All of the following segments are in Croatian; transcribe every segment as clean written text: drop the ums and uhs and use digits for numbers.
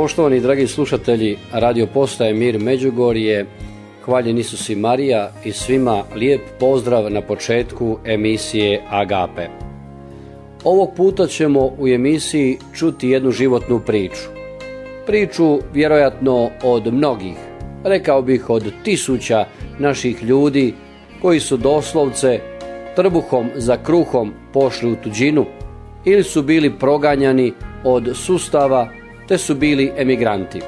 Poštovani dragi slušatelji Radio Postaje Mir Međugorje, hvaljen Isus i Marija i svima lijep pozdrav na početku emisije Agape. Ovog puta ćemo u emisiji čuti jednu životnu priču. Priču vjerojatno od mnogih, rekao bih od tisuća naših ljudi koji su doslovce trbuhom za kruhom pošli u tuđinu ili su bili proganjani od sustava te su bili emigranti.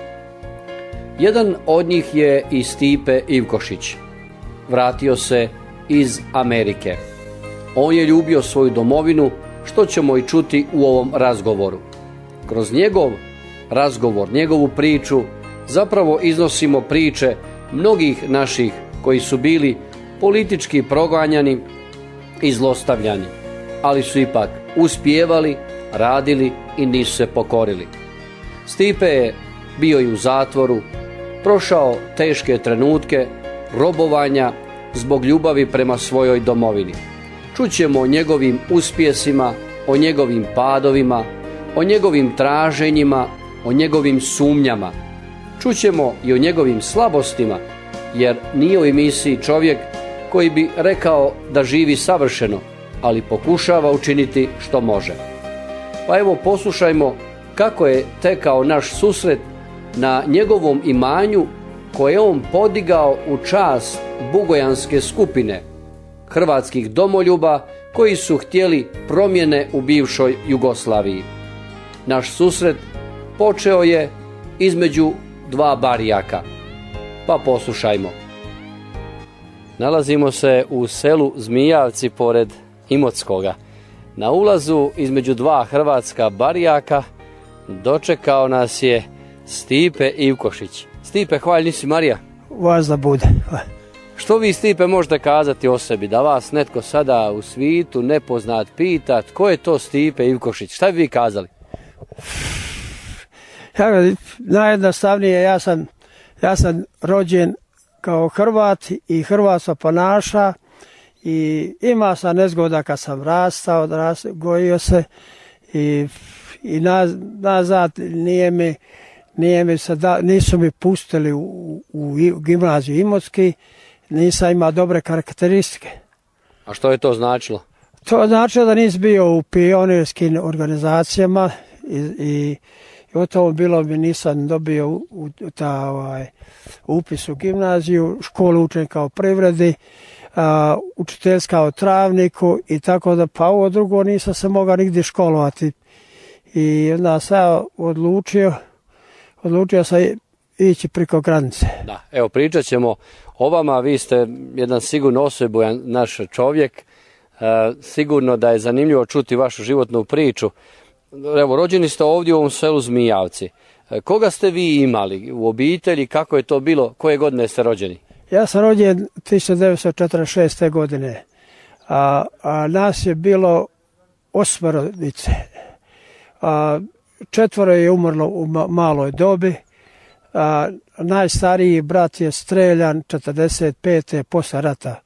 Jedan od njih je i Stipe Ivkošić. Vratio se iz Amerike. On je ljubio svoju domovinu, što ćemo i čuti u ovom razgovoru. Kroz njegov razgovor, njegovu priču, zapravo iznosimo priče mnogih naših koji su bili politički proganjani i zlostavljani, ali su ipak uspijevali, radili i nisu se pokorili. Stipe je bio i u zatvoru, prošao teške trenutke robovanja zbog ljubavi prema svojoj domovini. Čućemo o njegovim uspjesima, o njegovim padovima, o njegovim traženjima, o njegovim sumnjama. Čućemo i o njegovim slabostima, jer nije u emisiji čovjek koji bi rekao da živi savršeno, ali pokušava učiniti što može. Pa evo poslušajmo kako je tekao naš susret na njegovom imanju koje je on podigao u čast bugojanske skupine hrvatskih domoljuba koji su htjeli promjene u bivšoj Jugoslaviji. Naš susret počeo je između dva barijaka. Pa poslušajmo. Nalazimo se u selu Zmijavci pored Imotskoga. Na ulazu između dva hrvatska barijaka dočekao nas je Stipe Ivkošić. Stipe, hvaljen Isus i Marija. Vas da bude. Što vi, Stipe, možete kazati o sebi, da vas netko sada u svitu nepoznat pita tko je to Stipe Ivkošić? Šta bi vi kazali? Najjednostavnije, ja sam rođen kao Hrvat i Hrvat se ponaša i ima sam nezgoda kad sam rastao, gojio se i nazad nisu mi pustili u gimnaziju Imotski, nisam imao dobre karakteristike. A što je to značilo? To značilo da nisam bio u pionirskim organizacijama i o tom bilo mi nisam dobio upis u gimnaziju, školu učenika u privredi, učiteljska u Travniku i tako da, pa ovo drugo nisam se mogao nigdje školovati. I onda sam odlučio sam ići preko granice. Da, evo pričat ćemo o vama, vi ste jedan sigurno osobujan naš čovjek, sigurno da je zanimljivo čuti vašu životnu priču. Evo, rođeni ste ovdje u ovom selu Zmijavci. Koga ste vi imali u obitelji, kako je to bilo, koje godine ste rođeni? Ja sam rođen 1946. godine, a nas je bilo 8 djece. 4 je umrlo u maloj dobi, najstariji brat je streljan 45. posle rata,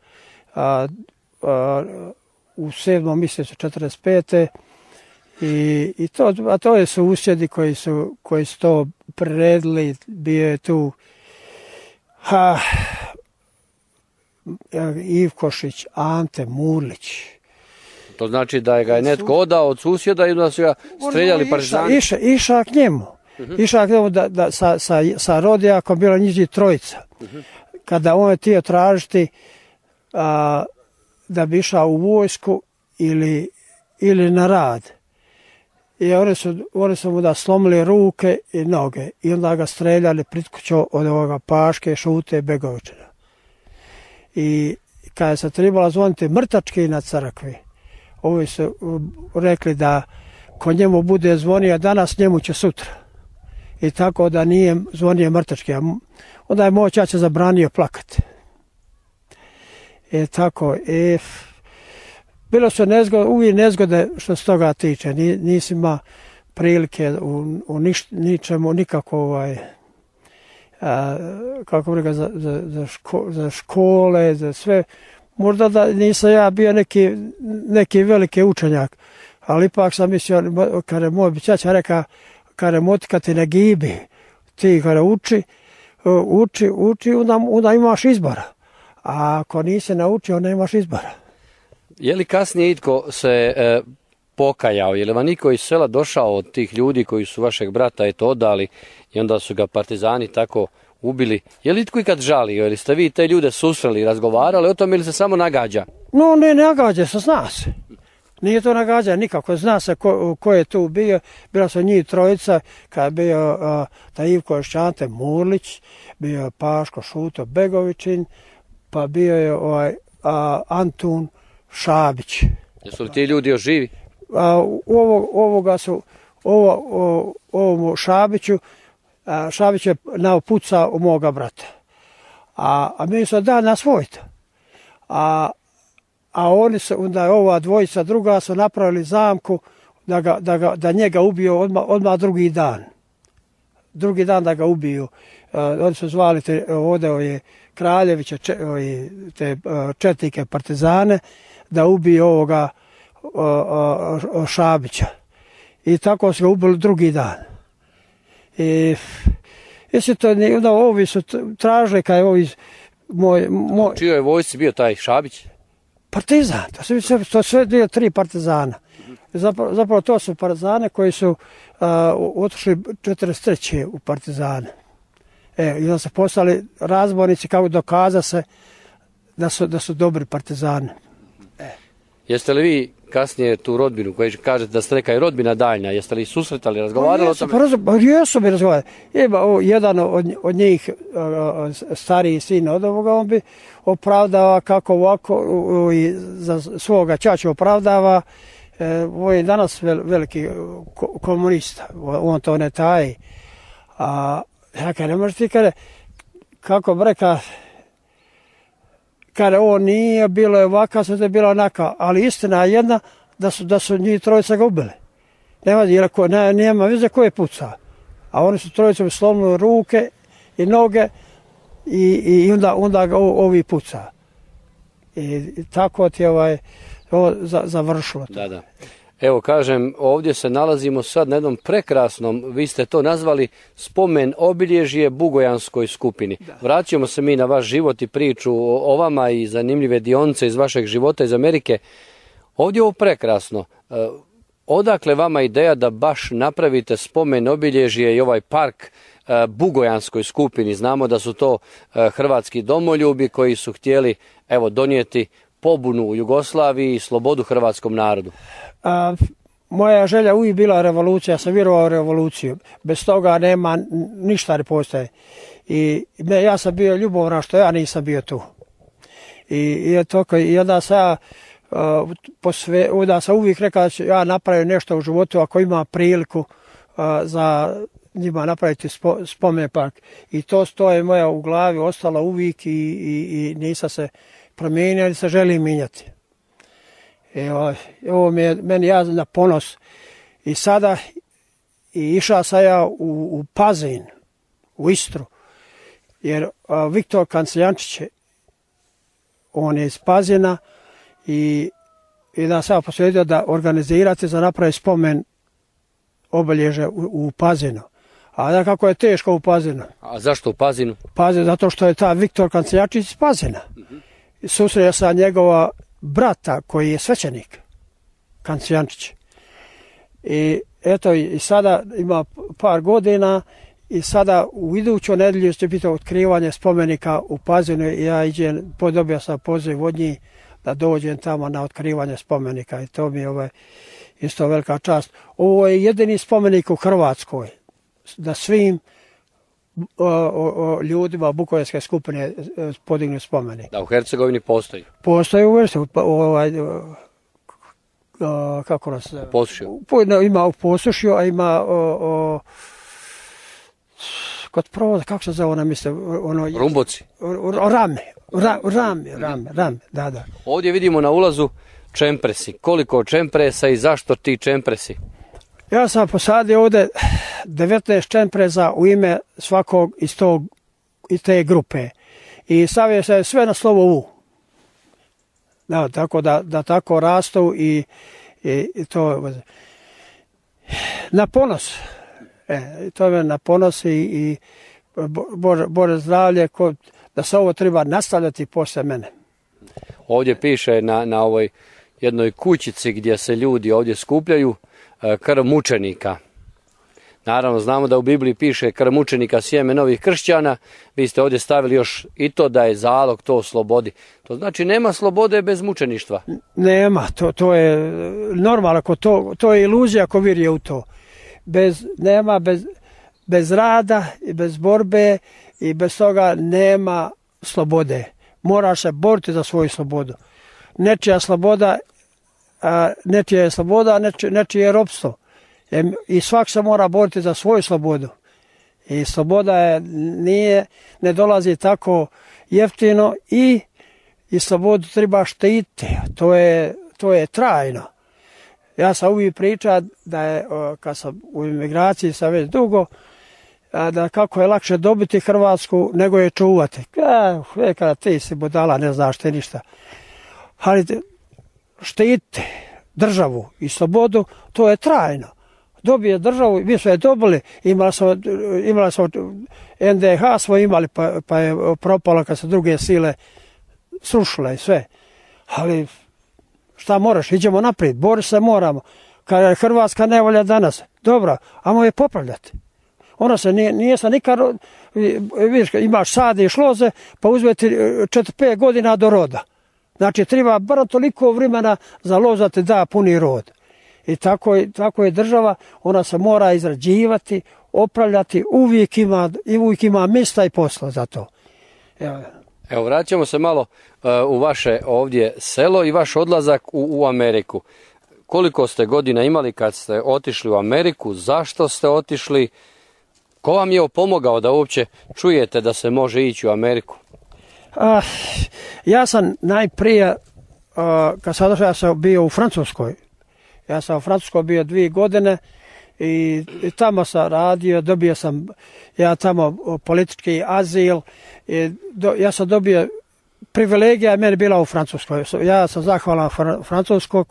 u 7. mjesecu 45. I to je susjedi koji su to priredili, bio je tu Ivkošić, Ante Murlić. To znači da ga je netko odao od susjeda i da su ga streljali partizani? Išao k njemu. Išao k njemu sa rodijakom, bilo njih 3. Kada on je htio tražiti da bi išao u vojsku ili na rad. I oni su mu da slomili ruke i noge i onda ga streljali pritkućo od ovoga Paške, Šute, Begovičina. I kada se trebalo zvoniti mrtački na crkvi, ovi su rekli da ko njemu bude zvonio danas, njemu će sutra. I tako da nije zvonio mrtački. Onda je moj ćaća zabranio plakati. I tako, bilo su uvijek nezgode što se toga tiče. Nisi ima prilike u ničemu, nikako kako bi rekao, za škole, za sve. Možda da nisam ja bio neki veliki učenjak, ali ipak sam mislio, kada je moj ćaća rekao, kada je motikati na gibi, ti kada uči, onda imaš izbora. A ako nisi naučio, onda imaš izbora. Je li kasnije itko se pokajao? Je li vam niko iz sela došao od tih ljudi koji su vašeg brata odali i onda su ga partizani tako ubili? Je li itko ikad žalio? Ili ste vi te ljude susreli i razgovarali o tome ili se samo nagađa? No, ne nagađa se, zna se. Nije to nagađa nikako, zna se ko je tu bio. Bila su njih trojica, kada je bio taj Ivko Šćante Murlić, bio je Paško Šuto Begovićin, pa bio je Antun Šabić. Jesu li ti ljudi još živi? Ovomu Šabiću, Šabić je napucao u moga brata. A mi su da nasvojiti. A oni su, onda ova dvojica druga su napravili zamku da njega ubiju odmah drugi dan. Drugi dan da ga ubiju. Oni su zvali ovdje Kraljevića, te četnike partizane, da ubiju ovoga Šabića. I tako su ga ubili drugi dan. Onda ovi su tražili kaj ovi U čijoj vojsci bio taj Šabić? Partizan, to sve bio 3 partizana. Zapravo to su partizane koji su otišli 43. u partizane. I onda su postali razbornici kako dokaza se da su dobri partizani. Jeste li vi kasnije tu rodbinu, koji kažete da ste neka i rodbina daljnja, jeste li susretali, razgovarali o tome? Jesu bi razgovarali. Jedan od njih, stariji sin od ovoga, on bi opravdava kako ovako i za svoga ćaća opravdava. On je danas veliki komunista, on to ne taji. Ja kada ne možete kako bi rekao, kada on nije, bilo je ovaka, sad je bilo onaka, ali istina je jedna da su njih trojica ga ubili. Nema veze ko je pucao. A oni su trojicom slomili ruke i noge i onda ga ovi pucao. I tako ti je ovo završilo. Da. Evo kažem, ovdje se nalazimo sad na jednom prekrasnom, vi ste to nazvali spomen obilježje Bugojanskoj skupini. Vraćamo se mi na vaš život i priču o vama i zanimljive dionice iz vašeg života iz Amerike. Ovdje je ovo prekrasno. Odakle vama ideja da baš napravite spomen obilježje i ovaj park Bugojanskoj skupini? Znamo da su to hrvatski domoljubi koji su htjeli donijeti pobunu u Jugoslaviji i slobodu hrvatskom narodu. Moja želja uvijek bila revolucija, ja sam vjerovao u revoluciju. Bez toga nema, ništa ne postoje. Ja sam bio ljubomran što ja nisam bio tu. I onda sam uvijek rekao da ću ja napraviti nešto u životu ako ima priliku za njima napraviti spomen park. I to je moja u glavi ostalo uvijek i nisam se promijenio ili se želim mijenjati. Ovo mi je meni na ponos. I sada išao sam ja u Pazin, u Istru, jer Viktor Kanceljančić, on je iz Pazina i da sam posvedio da organizirate za napraviti spomen obilježje u Pazinu. A da kako je teško u Pazinu. A zašto u Pazinu? Pazin, zato što je ta Viktor Kanceljančić iz Pazina. Susreo sam njegova brata koji je svećenik, Kanceljančić. I eto, i sada ima par godina i sada u iduću nedjelju će biti otkrivanje spomenika u Pazinu i ja dobio sam poziv od njih da dođem tamo na otkrivanje spomenika i to mi je isto velika čast. Ovo je jedini spomenik u Hrvatskoj da svim ljudima Bukojanske skupine podignu spomenik. Da, u Hercegovini postoji? Postoji u kako nas zove? Posušju? Ima u Posušju, a ima kod provoda, kako se zove ona misle? Rumboci? Rame, da. Ovdje vidimo na ulazu čempresi. Koliko čempresa i zašto ti čempresi? Ja sam posadio ovdje 19 čempreza u ime svakog iz te grupe. I stavio se sve na slovo U. Da, tako da tako rastu i to na ponos. To me naponosi i Bože zdravlje, da se ovo treba nastavljati posle mene. Ovdje piše na ovoj jednoj kućici gdje se ljudi ovdje skupljaju krv mučenika. Naravno, znamo da u Bibliji piše krv mučenika sjeme novih kršćana. Vi ste ovdje stavili još i to da je zalog to slobodi. To znači nema slobode bez mučeništva. Nema, to je normalno, to je iluzija ako vjeruje u to. Bez rada i bez borbe i bez toga nema slobode. Moraš se boriti za svoju slobodu. Nečija je sloboda, nečije je ropstvo. I svak se mora boriti za svoju slobodu. I sloboda ne dolazi tako jeftino i slobodu treba štititi. To je trajno. Ja sam uvijek pričao da je, kad sam u imigraciji sam već dugo, da kako je lakše dobiti Hrvatsku nego je čuvati. Kada ti si budala, ne znaš ti ništa. Ali štititi državu i slobodu, to je trajno. Dobije državu, mi smo je dobili, imali smo NDH, smo imali, pa je propalo kad se druge sile srušile i sve. Ali šta moraš, idemo naprijed, boriti se moramo. Kad je Hrvatska nevolja danas, dobro, ajmo je popravljati. Ona se nije se nikad, vidiš, imaš sadiš loze, pa uzmeti 4-5 godina do roda. Znači, treba bar toliko vremena za lozati da puni rod. I tako je država, ona se mora izrađivati, opravljati, uvijek ima mjesta i posla za to. Evo, vraćamo se malo u vaše ovdje selo i vaš odlazak u Ameriku. Koliko ste godina imali kad ste otišli u Ameriku, zašto ste otišli, ko vam je pomogao da uopće čujete da se može ići u Ameriku? Ja sam najprije, kad sam došao, ja sam bio u Francuskoj. Ja sam u Francuskoj bio 2 godine i tamo sam radio, dobio sam ja tamo politički azil. Ja sam dobio privilegija, je meni bila u Francuskoj. Ja sam zahvalan Francuskoj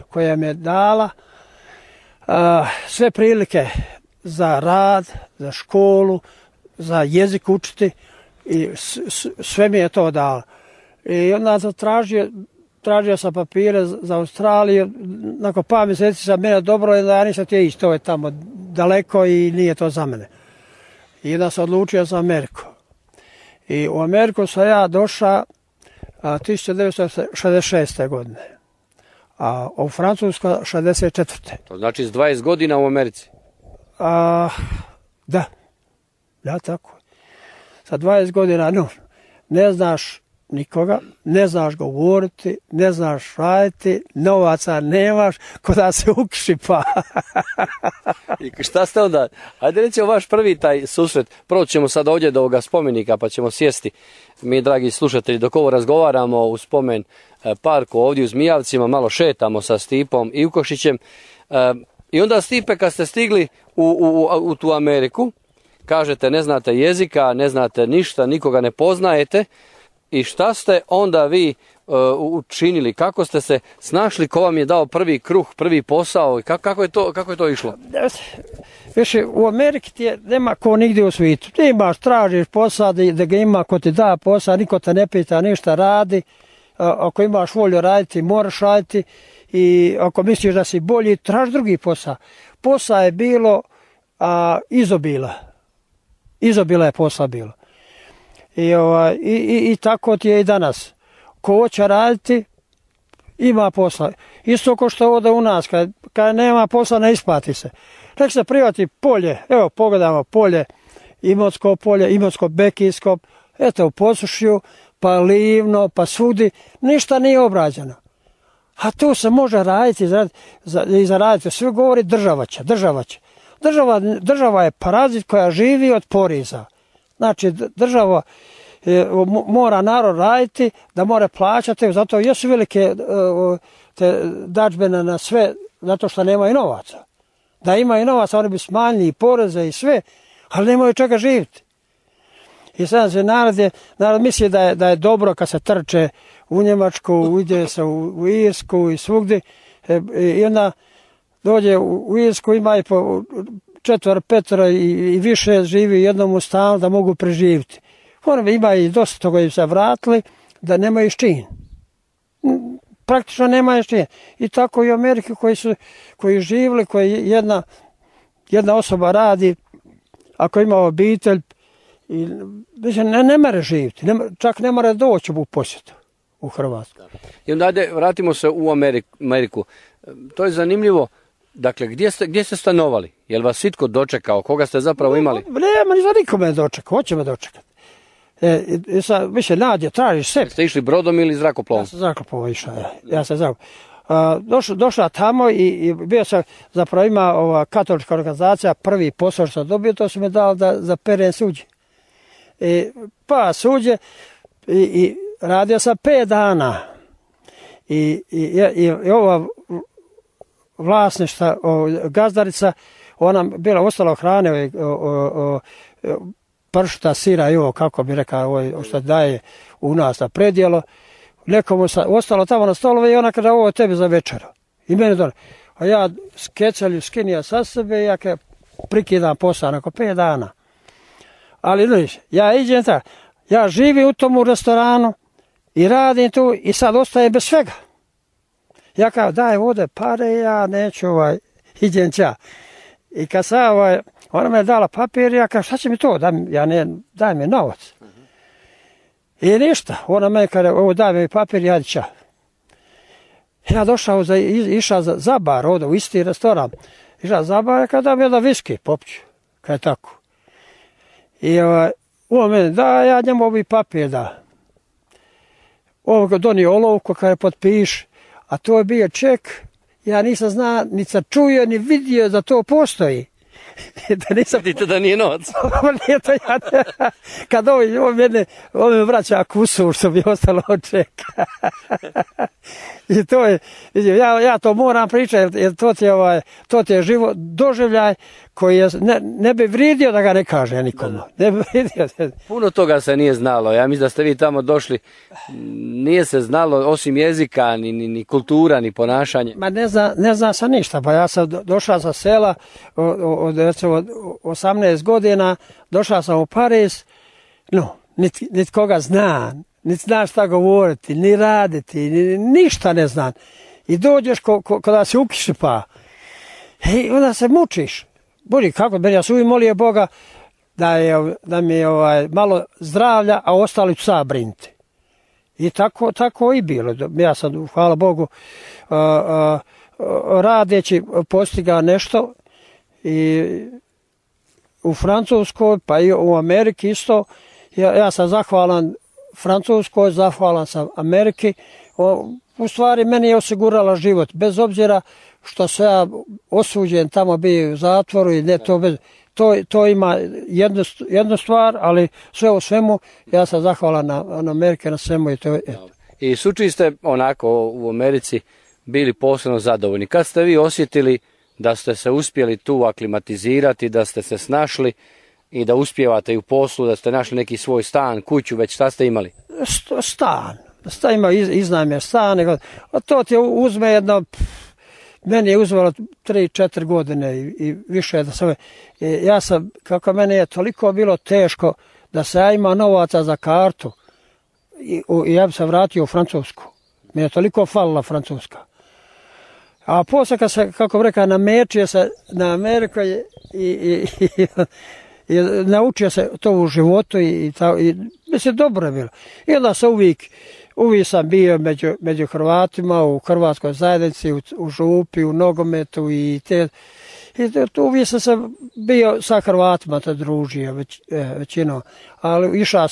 koja mi je dala sve prilike za rad, za školu, za jezik učiti i sve mi je to dalo. I onda sam tražio sam papire za Australiju, nakon par mjeseci sam mene dobro, ja nisam htio ići, to je tamo daleko i nije to za mene. I onda sam odlučio za Ameriku. I u Ameriku sam ja došao 1966. godine, a u Francuskoj 64. To znači s 20 godina u Americi? Da, tako. Sa 20 godina, ne znaš nikoga, ne znaš govoriti, ne znaš raditi, novaca nemaš, ko da se ukšipa. I šta ste onda? Ajde recimo vaš prvi taj susret. Prvo ćemo sad ovdje do ovoga spomenika pa ćemo sjesti. Mi, dragi slušatelji, dok ovo razgovaramo u spomen parku ovdje u Zmijavcima, malo šetamo sa Stipom i Ukošićem. I onda, Stipe, kad ste stigli u tu Ameriku, kažete ne znate jezika, ne znate ništa, nikoga ne poznajete. I šta ste onda vi učinili? Kako ste se snašli? Ko vam je dao prvi kruh, prvi posao? Kako je to išlo? Više, u Ameriki ti nema ko nigdje u svijetu. Ti imaš, tražiš posao, da ga ima ko ti da posao, niko te ne pita ništa, radi. Ako imaš volju raditi, moraš raditi. I ako misliš da si bolji, traži drugi posao. Posao je bilo izobila. Izobila je posao bilo. I tako ti je i danas. Ko hoće raditi, ima posla. Isto kao što ovdje u nas, kad nema posla, ne isplati se. Nek se privati polje, evo pogledamo polje, Imotsko polje, Imotsko-Bekijsko, eto u Posušju, pa Livno, pa svugdje, ništa nije obrađeno. A tu se može raditi i zaraditi. Sve govori država će. Država je parazit koja živi od poriza. Znači, država mora narod raditi, da mora plaćati, zato jesu velike te dažbene na sve, zato što nemaju novaca. Da imaju novaca, oni bi smanjili i poreze i sve, ali nemaju čega živjeti. I sad se narod misli da je dobro kad se trče u Njemačku, ide se u Irsku i svugdje, i onda dođe u Irsku, ima i po 4, 5 i više živi u jednom stanu da mogu preživjeti. Oni ima i dosta toga im se vratili da nemaju s čim. Praktično nemaju s čim. I tako i u Ameriki koji živjeli, koji jedna osoba radi, ako ima obitelj, ne more živjeti, čak ne mora doći u posjetu u Hrvatsku. I onda vratimo se u Ameriku. To je zanimljivo. Dakle, gdje ste stanovali? Je li vas sitko dočekao? Koga ste zapravo imali? Nema ni za nikome dočekao, hoće me dočekati. Više nađe, tražiš sebi. Ste išli brodom ili zrakoplovom? Ja sam zrakoplovom išao. Ja sam zrakoplovom. Došla tamo i bio sam, zapravo ima ova katolička organizacija, prvi posao što sam dobio, to su mi dali za perem suđe. Pa suđe i radio sam 5 dana. I ova vlasništva, gazdarica, ona bila ostala hrane, pršuta, sira i ovo, kako bi rekao, što daje u nas na predjelo. Nekomu ostalo tamo na stolove i ona kaže, ovo je tebi za večeru. I meni dole. A ja skecelju skinija sa sebe i ja prikidam posao nakon 5 dana. Ali vidiš, ja idem tako, ja živim u tomu restoranu i radim tu i sad ostajem bez svega. Ja kao, daj ovdje pare, ja neću idem ća. I kad sam ona me je dala papir, ja kao, šta će mi to? Daj mi novac. I ništa, ona me kaže, ovo daj mi papir, ja ća. Ja došao, išao za bar ovdje, u isti restoran. Išao za bar, kada mi jedan viski popću, kad je tako. I on meni da, ja njemu ovi papir da. Ovo ga donio olovku, kada je potpiš, a to je bio ček, ja nisam znao, ni sam čuo, ni vidio da to postoji. Da nisam... Vidite da nije novac. Nije to ja. Kad on me vraća kusur, što bi ostalo od čeka. I to je, ja to moram pričati, jer to ti je život, doživljaj koji ne bi vrijedio da ga ne kaže nikomu. Ne bi vrijedio. Puno toga se nije znalo. Ja mislim da ste vi tamo došli, nije se znalo osim jezika, ni kultura, ni ponašanje. Ma ne zna sam ništa. Pa ja sam došao sa sela od recimo 18 godina, došao sam u Pariz, niti koga zna, niti znaš šta govoriti, ni raditi, ništa ne znam. I dođeš kada se ukiši pa, i onda se mučiš. Budi kako, ja sam uvijek molio Boga da mi je malo zdravlja, a ostali ću sam brinuti. I tako i bilo. Ja sam, hvala Bogu, radeći postigao nešto i u Francuskoj, pa i u Ameriki isto. Ja sam zahvalan Francuskoj, zahvalan sam Ameriki. U stvari meni je osigurala život, bez obzira što sam ja osuđen tamo bio u zatvoru i ne to ima jednu stvar, ali sve u svemu ja sam zahvalan na Amerike, na svemu. I suči ste onako u Americi bili posebno zadovoljni. Kad ste vi osjetili da ste se uspjeli tu aklimatizirati, da ste se snašli i da uspijevate i u poslu, da ste našli neki svoj stan, kuću, već šta ste imali? Stan ima iznajmljen stan, a to ti uzme jedno, meni je uzelo 3-4 godine i više da sam, ja sam, kako meni je toliko bilo teško da se ja ima novaca za kartu i ja bi se vratio u Francusku. Meni je toliko falila Francuska. A poslije kad se, kako bi rekao, namečio se na Ameriku i naučio se to u životu i mislim, dobro je bilo. I onda sam uvijek sam bio među Hrvatima, u hrvatskoj zajednici, u župi, u nogometu i uvijek sam se bio sa Hrvatima te družio većinom. Ali išao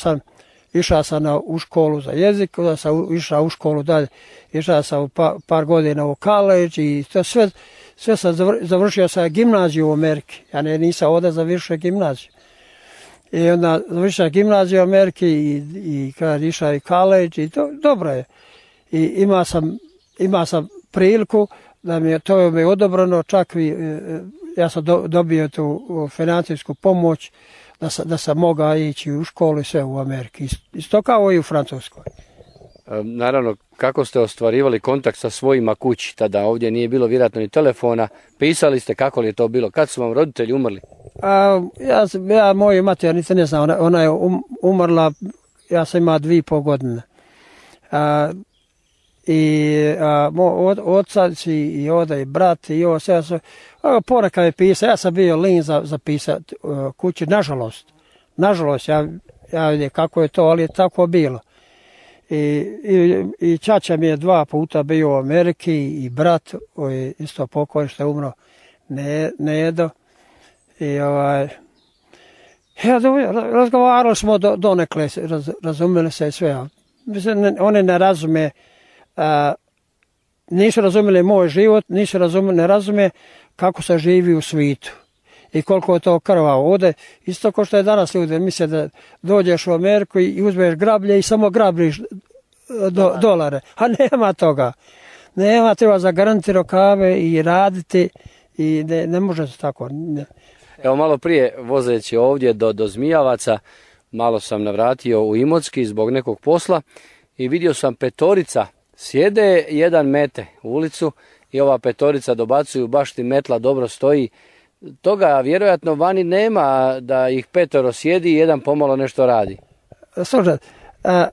sam u školu za jezik, onda sam išao u školu dalje, išao sam par godina u college i to sve sam završio sa gimnaziju u Ameriki. Ja nisam ovdje završio gimnaziju. I onda završio gimnaziju u Ameriki i kad išao i college i to dobro je. I imao sam priliku da mi je to odobreno, čak ja sam dobio tu financijsku pomoć da sam mogao ići u školu i sve u Ameriki. Isto kao i u Francuskoj. Naravno, kako ste ostvarivali kontakt sa svojima kući, tada ovdje nije bilo vjerojatno ni telefona, pisali ste, kako li je to bilo, kad su vam roditelji umrli? Moju mati, ja ne znam, ona je umrla, ja sam imao 2,5 godine. Oca i oda i brat i ovo sve, ponekad je pisao, ja sam bio lin za pisati kući, nažalost, ja vidim kako je to, ali je tako bilo. I čača mi je 2 puta bio u Ameriki i brat, isto pokoj što je umro, Nedo. I razgovarali smo donekle, razumeli se sve. Mislim, oni ne razume, nisu razumeli moj život, ne razume kako se živi u svijetu i koliko je to krvavo. Ovdje, isto kao što je danas ljudi misle da dođeš u Ameriku i uzmeš grablje i samo grabliš dolare. A nema toga. Nema, treba zagaranti rukave i raditi i ne može se tako. Evo, malo prije vozeći ovdje do Zmijavaca, malo sam navratio u Imotski zbog nekog posla i vidio sam 5 sjede, jedan mete u ulicu i ova 5 dobacuju, baš ti metla dobro stoji. Toga vjerojatno vani nema, da ih 5 sjedi i jedan pomalo nešto radi. Slušaj,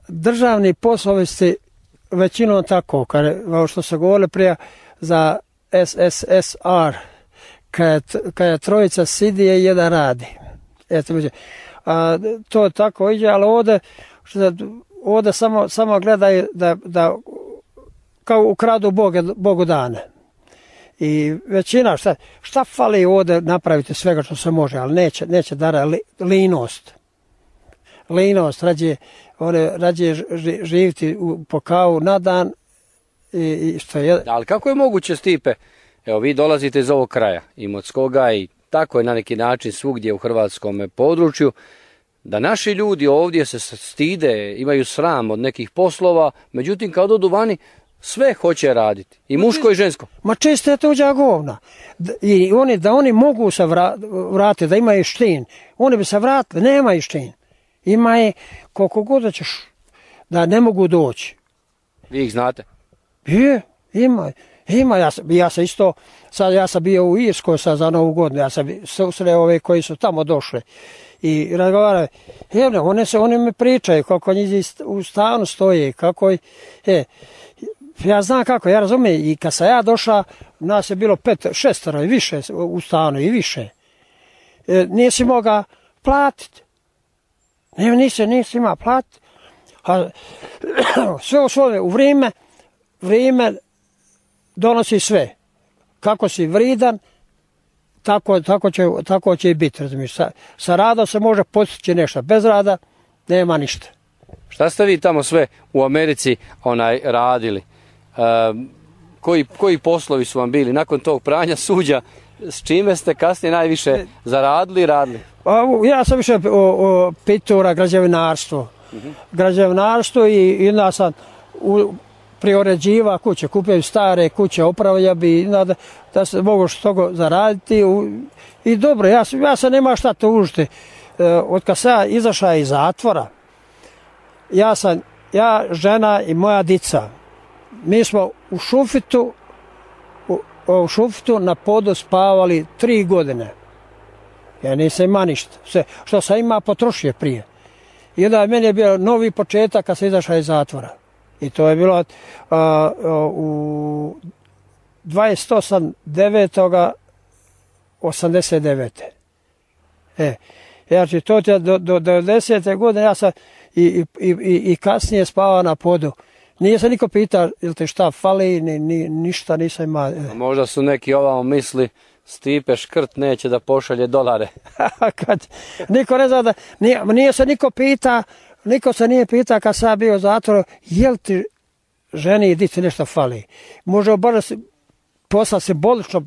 državni poslovi su većinom tako, kao što se govorili prije za SSSR, kad je 3 sidi i jedan radi. To tako ide, ali ovdje samo gledaju da kao ukradu Bogu dane. I većina, šta fali ovdje napraviti svega što se može, ali neće dara linost, rađe živiti po kavu na dan. Što je. Ali kako je moguće, Stipe, evo vi dolazite iz ovog kraja, Imotskoga, i tako je na neki način svugdje u hrvatskom području, da naši ljudi ovdje se stide, imaju sram od nekih poslova, međutim kad odu vani, sve hoće raditi, i muško i žensko. Ma često je tuđa govna. I oni mogu se vratiti, da imaju štin. Oni bi se vratili, nemaju štin. Ima je koliko god da ćeš, da ne mogu doći. Vi ih znate? Ima. Ja sam isto, ja sam bio u Irskoj za Novu godinu, ja sam susreo ove koji su tamo došli. I razgovaraju, oni mi pričaju kako njih u stanu stoje, kako ja znam kako, ja razumijem, i kad sam ja došla, nas je bilo 5, 6 i više u stanu i više. Nisi mogao platiti. Nisi imao platiti. Sve u svoje, u vrijeme donosi sve. Kako si vridan, tako će i biti, razumiješ. Sa radom se može postići nešto, bez rada nema ništa. Šta ste vi tamo sve u Americi radili? Koji poslovi su vam bili nakon tog pranja suđa? S čime ste kasnije najviše zaradili i radili? Ja sam više pitura, građevinarstvo i onda sam prioređiva kuće, kupio stare kuće, opravlja bi da se mogu što zaraditi i dobro, ja se nema šta tužiti. Od kad sam izašao iz zatvora, ja, žena i moja dica, mi smo u Šufitu na podu spavali 3 godine. Ja nisam ima ništa. Sve što sam ima potrošio prije. I onda meni je bio novi početak kad sam izašao iz zatvora. I to je bilo u 28.9.89. Znači to je do 90. godine ja sam i kasnije spavao na podu. Nije se niko pitao ili te šta fali, ništa nisam imao. Možda su neki ovamo misli, Stipe škrt neće da pošalje dolare. Niko ne zna da, nije se niko pitao, niko se nije pitao kad sam bio u zatvoru, jel ti ženi i dici nešto fali. Može bar poslati se bolično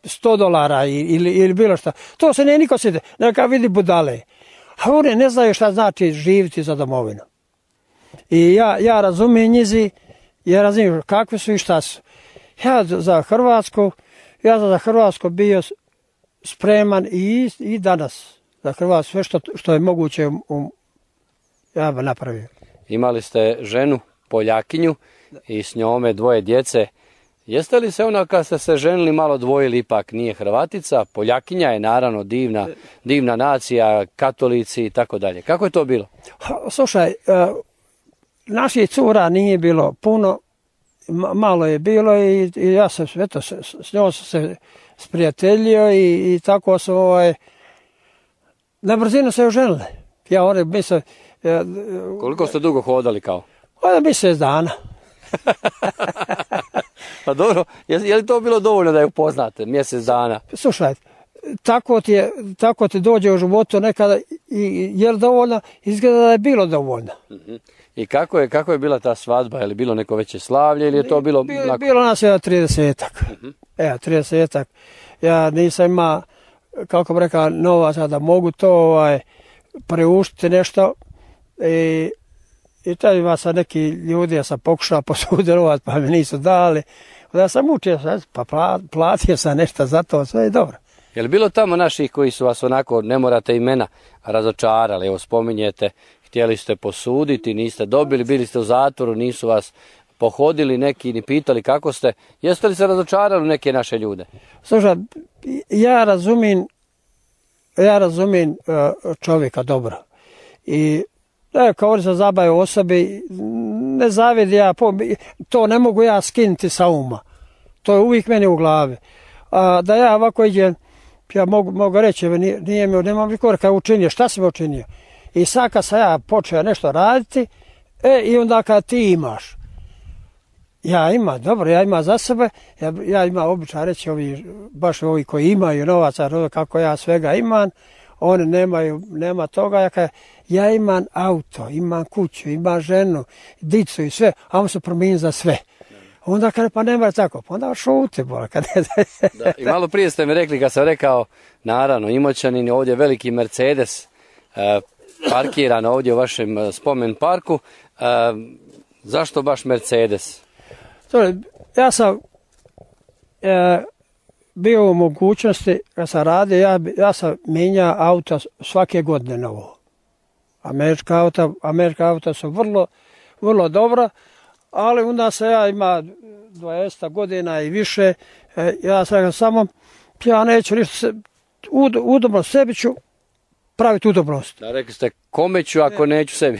$100 ili bilo šta. To se nije niko sjede, neka vidi budale. A oni ne znaju šta znači živjeti za domovinu. I ja razumijem njizi, ja razumijem kakvi su i šta su. Ja za Hrvatsku bio spreman i danas. Za Hrvatsku sve što je moguće ja bi napravio. Imali ste ženu Poljakinju i s njome 2 djece. Jeste li se ona kad ste se ženili malo dvojili, ipak nije Hrvatica, Poljakinja je naravno divna nacija, katolici i tako dalje. Kako je to bilo? Slušaj, naših cura nije bilo puno, malo je bilo i ja sam s njom se sprijateljio i tako sam na brzinu se oženili. Koliko ste dugo hodali kao? Mjesec dana. Pa dobro, je li to bilo dovoljno da je upoznate, mjesec dana? Slušaj, tako ti dođe u životu nekada i je li dovoljno, izgleda da je bilo dovoljno. I kako je bila ta svadba? Je li bilo neko veće slavlje ili je to bilo... Bilo nas je 30-ak. 30-ak. Ja nisam imao, kako bi rekao, novaca da mogu to preuštiti nešto i tad ima sad neki ljudi, ja sam pokušao posudjelovati pa mi nisu dali. Da sam učio, pa platio sam nešto za to, sve je dobro. Je li bilo tamo naših koji su vas onako, ne morate imena, razočarali? Evo spominjete, htjeli ste posuditi, niste dobili, bili ste u zatvoru, nisu vas pohodili neki ni pitali kako ste. Jeste li se razočarali u neke naše ljude? Slušaj, ja razumijem čovjeka dobro. I kao oni se zabavaju osobi, ne zavidi ja, to ne mogu ja skinuti sa uma. To je uvijek meni u glavi. Da ja ovako idem, ja mogu reći, nemam nikorka učinio, šta sam učinio? I sad kad sam ja počeo nešto raditi, i onda kad ti imaš, ja imam za sebe, ja imam običaj reći, baš ovi koji imaju novaca, kako ja svega imam, oni nema toga, ja imam auto, imam kuću, imam ženu, dicu i sve, a on se promijeni za sve. Onda kada pa nema tako, pa onda šuti. I malo prije ste mi rekli, kad sam rekao, naravno, Imoćanin, ovdje veliki Mercedes parkiran ovdje u vašem spomen parku. Zašto baš Mercedes? Ja sam bio u mogućnosti, kad sam radio, ja sam mijenjao auto svake godine novo. Američka auta su vrlo dobra, ali onda se ja ima 20 godina i više, ja sam samo, ja neću ništa, udobno sebi ću praviti udobnost. Da, rekli ste, kome ću ako neću sebi?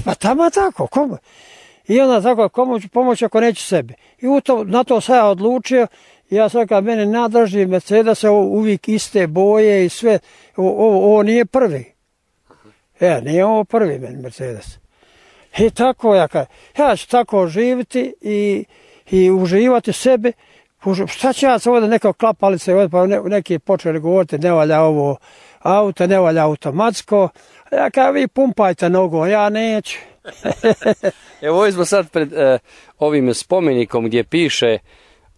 Pa tamo tako, kome? I onda tako, komu ću pomoći ako neću sebi? I na to sam ja odlučio, ja sam rekao, mene nadraži Mercedes, uvijek iste boje i sve, ovo nije prvi. Nije ovo prvi meni Mercedes. I tako ja ću tako živjeti i uživati sebi. Šta će ja se ovdje neka klapalice, pa neki počeli govoriti, ne valja ovo auto, ne valja automatsko. Ja kažem, vi pumpajte nogu, ja neću. Evo ovdje smo sad pred ovim spomenikom gdje piše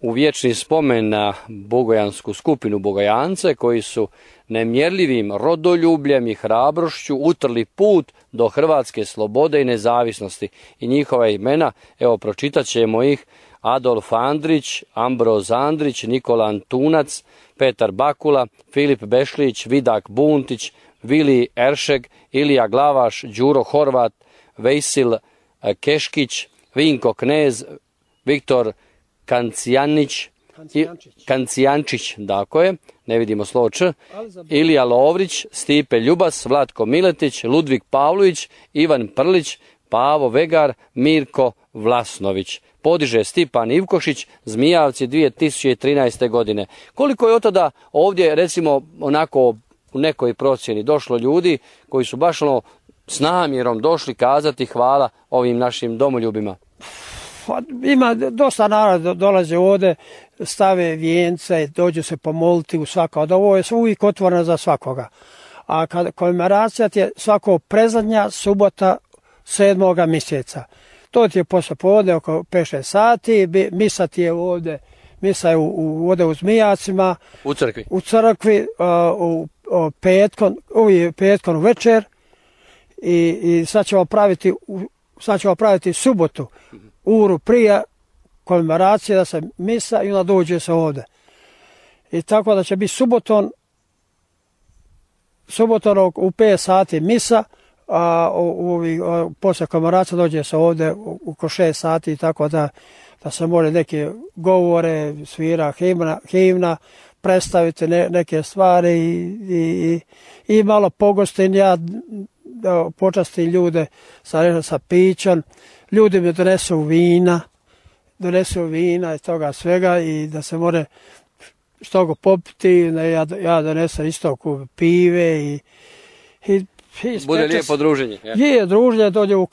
u vječni spomen na bogojansku skupinu Bogojance koji su nemjerljivim rodoljubljem i hrabrošću utrli put do hrvatske slobode i nezavisnosti. I njihova imena, evo pročitat ćemo ih: Adolf Andrić, Ambroz Andrić, Nikola Antunac, Petar Bakula, Filip Bešlić, Vidak Buntić, Vili Eršeg, Ilija Glavaš, Đuro Horvat, Vejsil Keškić, Vinko Knez, Viktor Kancijančić, tako je, ne vidimo slovo Č, Ilija Lovrić, Stipe Ljubas, Vlatko Miletić, Ludvik Pavlović, Ivan Prlić, Pavo Vegar, Mirko Vlasnović. Podiže Stipan Ivkošić, Zmijavci 2013. godine. Koliko je od tada ovdje, recimo, onako u nekoj procjeni došlo ljudi koji su baš s namjerom došli kazati hvala ovim našim domoljubima? Ima dosta naroda dolaze ovdje, stave vijence, dođu se pomoliti u svako. Ovo je uvijek otvoreno za svakoga. A komemoracija je svako prezadnja subota 7. mjeseca. To ti je posle podne oko 5-6 sati, misa ti je ovdje, misa je ovdje u Zmijacima. U crkvi? U crkvi, petkom večer i sad ćemo praviti subotu, uru prije komemoracije da se misa i onda dođe se ovdje. I tako da će biti subotom u 5 sati misa, a posle komemoracije dođe se ovde oko 6 sati, tako da se može neke govore, svira himna, predstaviti neke stvari i malo pogostim ja, počastim ljude sa pićom. Ljudi mi donesu vina i toga svega i da se more što go popiti, ja donesem isto pive i bude lijepo druženje. Je, druženje, dođe u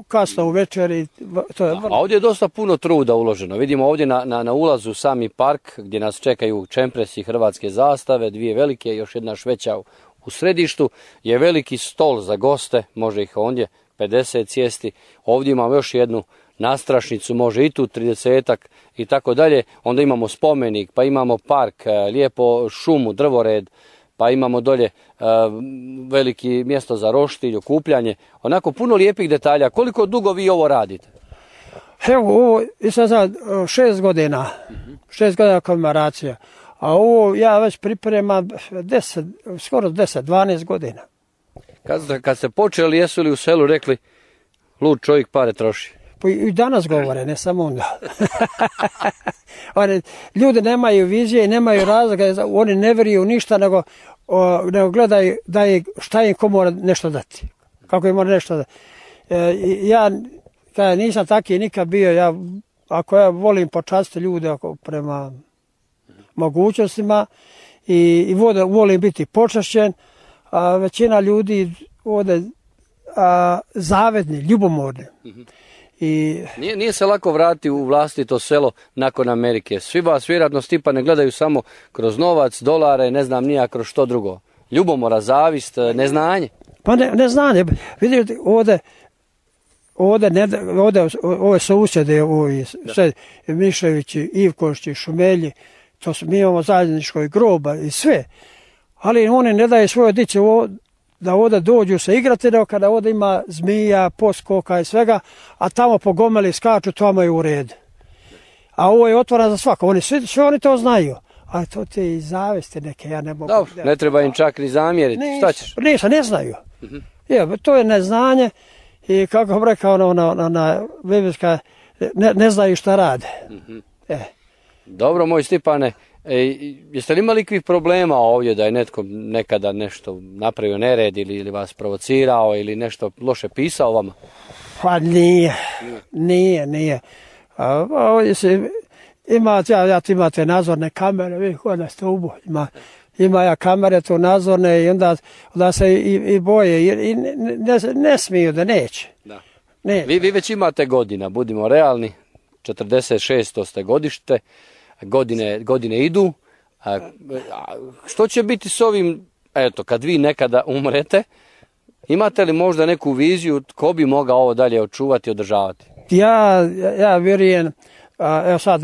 kasno u večer i to je vrlo. A ovdje je dosta puno truda uloženo. Vidimo ovdje na ulazu u sami park gdje nas čekaju čempresi hrvatske zastave, 2 velike, još jedna šveća u središtu, je veliki stol za goste, može ih ondje 50 sjesti. Ovdje imamo još jednu nastrašnicu, može i tu 30-ak i tako dalje. Onda imamo spomenik, pa imamo park, lijepo šumu, drvored, pa imamo dolje veliki mjesto za roštilj, okupljanje. Onako puno lijepih detalja. Koliko dugo vi ovo radite? Evo, ovo je sad 6 godina. 6 godina komemoracija. A ovo ja već pripremam skoro 10-12 godina. Kad ste počeli, jesu li u selu rekli lud čovjek pare troši? Pa i danas govore, ne samo onda. Ljudi nemaju vizije, nemaju razloga, oni ne vjeruju ništa, nego gledaju šta im ko mora nešto dati. Kako im mora nešto dati. Ja nisam taki nikad bio, ako ja volim počastiti ljude prema mogućnostima i volim biti počašćen, a većina ljudi ovdje zavedni, ljubomorni. Nije se lako vratiti u vlastito selo nakon Amerike. Svi vas vjerojatno, Stipane, gledaju samo kroz novac, dolare, ne znam nija kroz što drugo. Ljubomora, zavist, neznanje. Pa neznanje. Vidite, ove susjede, Miševići, Ivkošći, Šumelji, mi imamo zajedničko groba i sve. Ali oni ne daju svoje dice da ovdje dođu se igrati, nego kada ovdje ima zmija, poskoka i svega, a tamo po gomeli skaču, tamo je u redu. A ovo je otvoreno za svako, sve oni to znaju. Ali to te i zavesti neke, ja ne mogu... Dobro, ne treba im čak ni zamjeriti, šta ćeš? Ne znaju. To je neznanje i kako bih rekao na Biblijska, ne znaju šta rade. Dobro, moj Stipane, jeste li imali ikvih problema ovdje da je netko nekada nešto napravio nered ili vas provocirao ili nešto loše pisao vama? Pa nije. Ovdje se imate nadzorne kamere, vi kod na stubu, ima kamere tu nadzorne i onda se i boje i ne smiju da neće. Da. Vi već imate godina, budimo realni, 46. ste godište, godine idu. Što će biti s ovim, kad vi nekada umrete, imate li možda neku viziju tko bi mogao ovo dalje očuvati i održavati? Ja vjerujem, evo sad,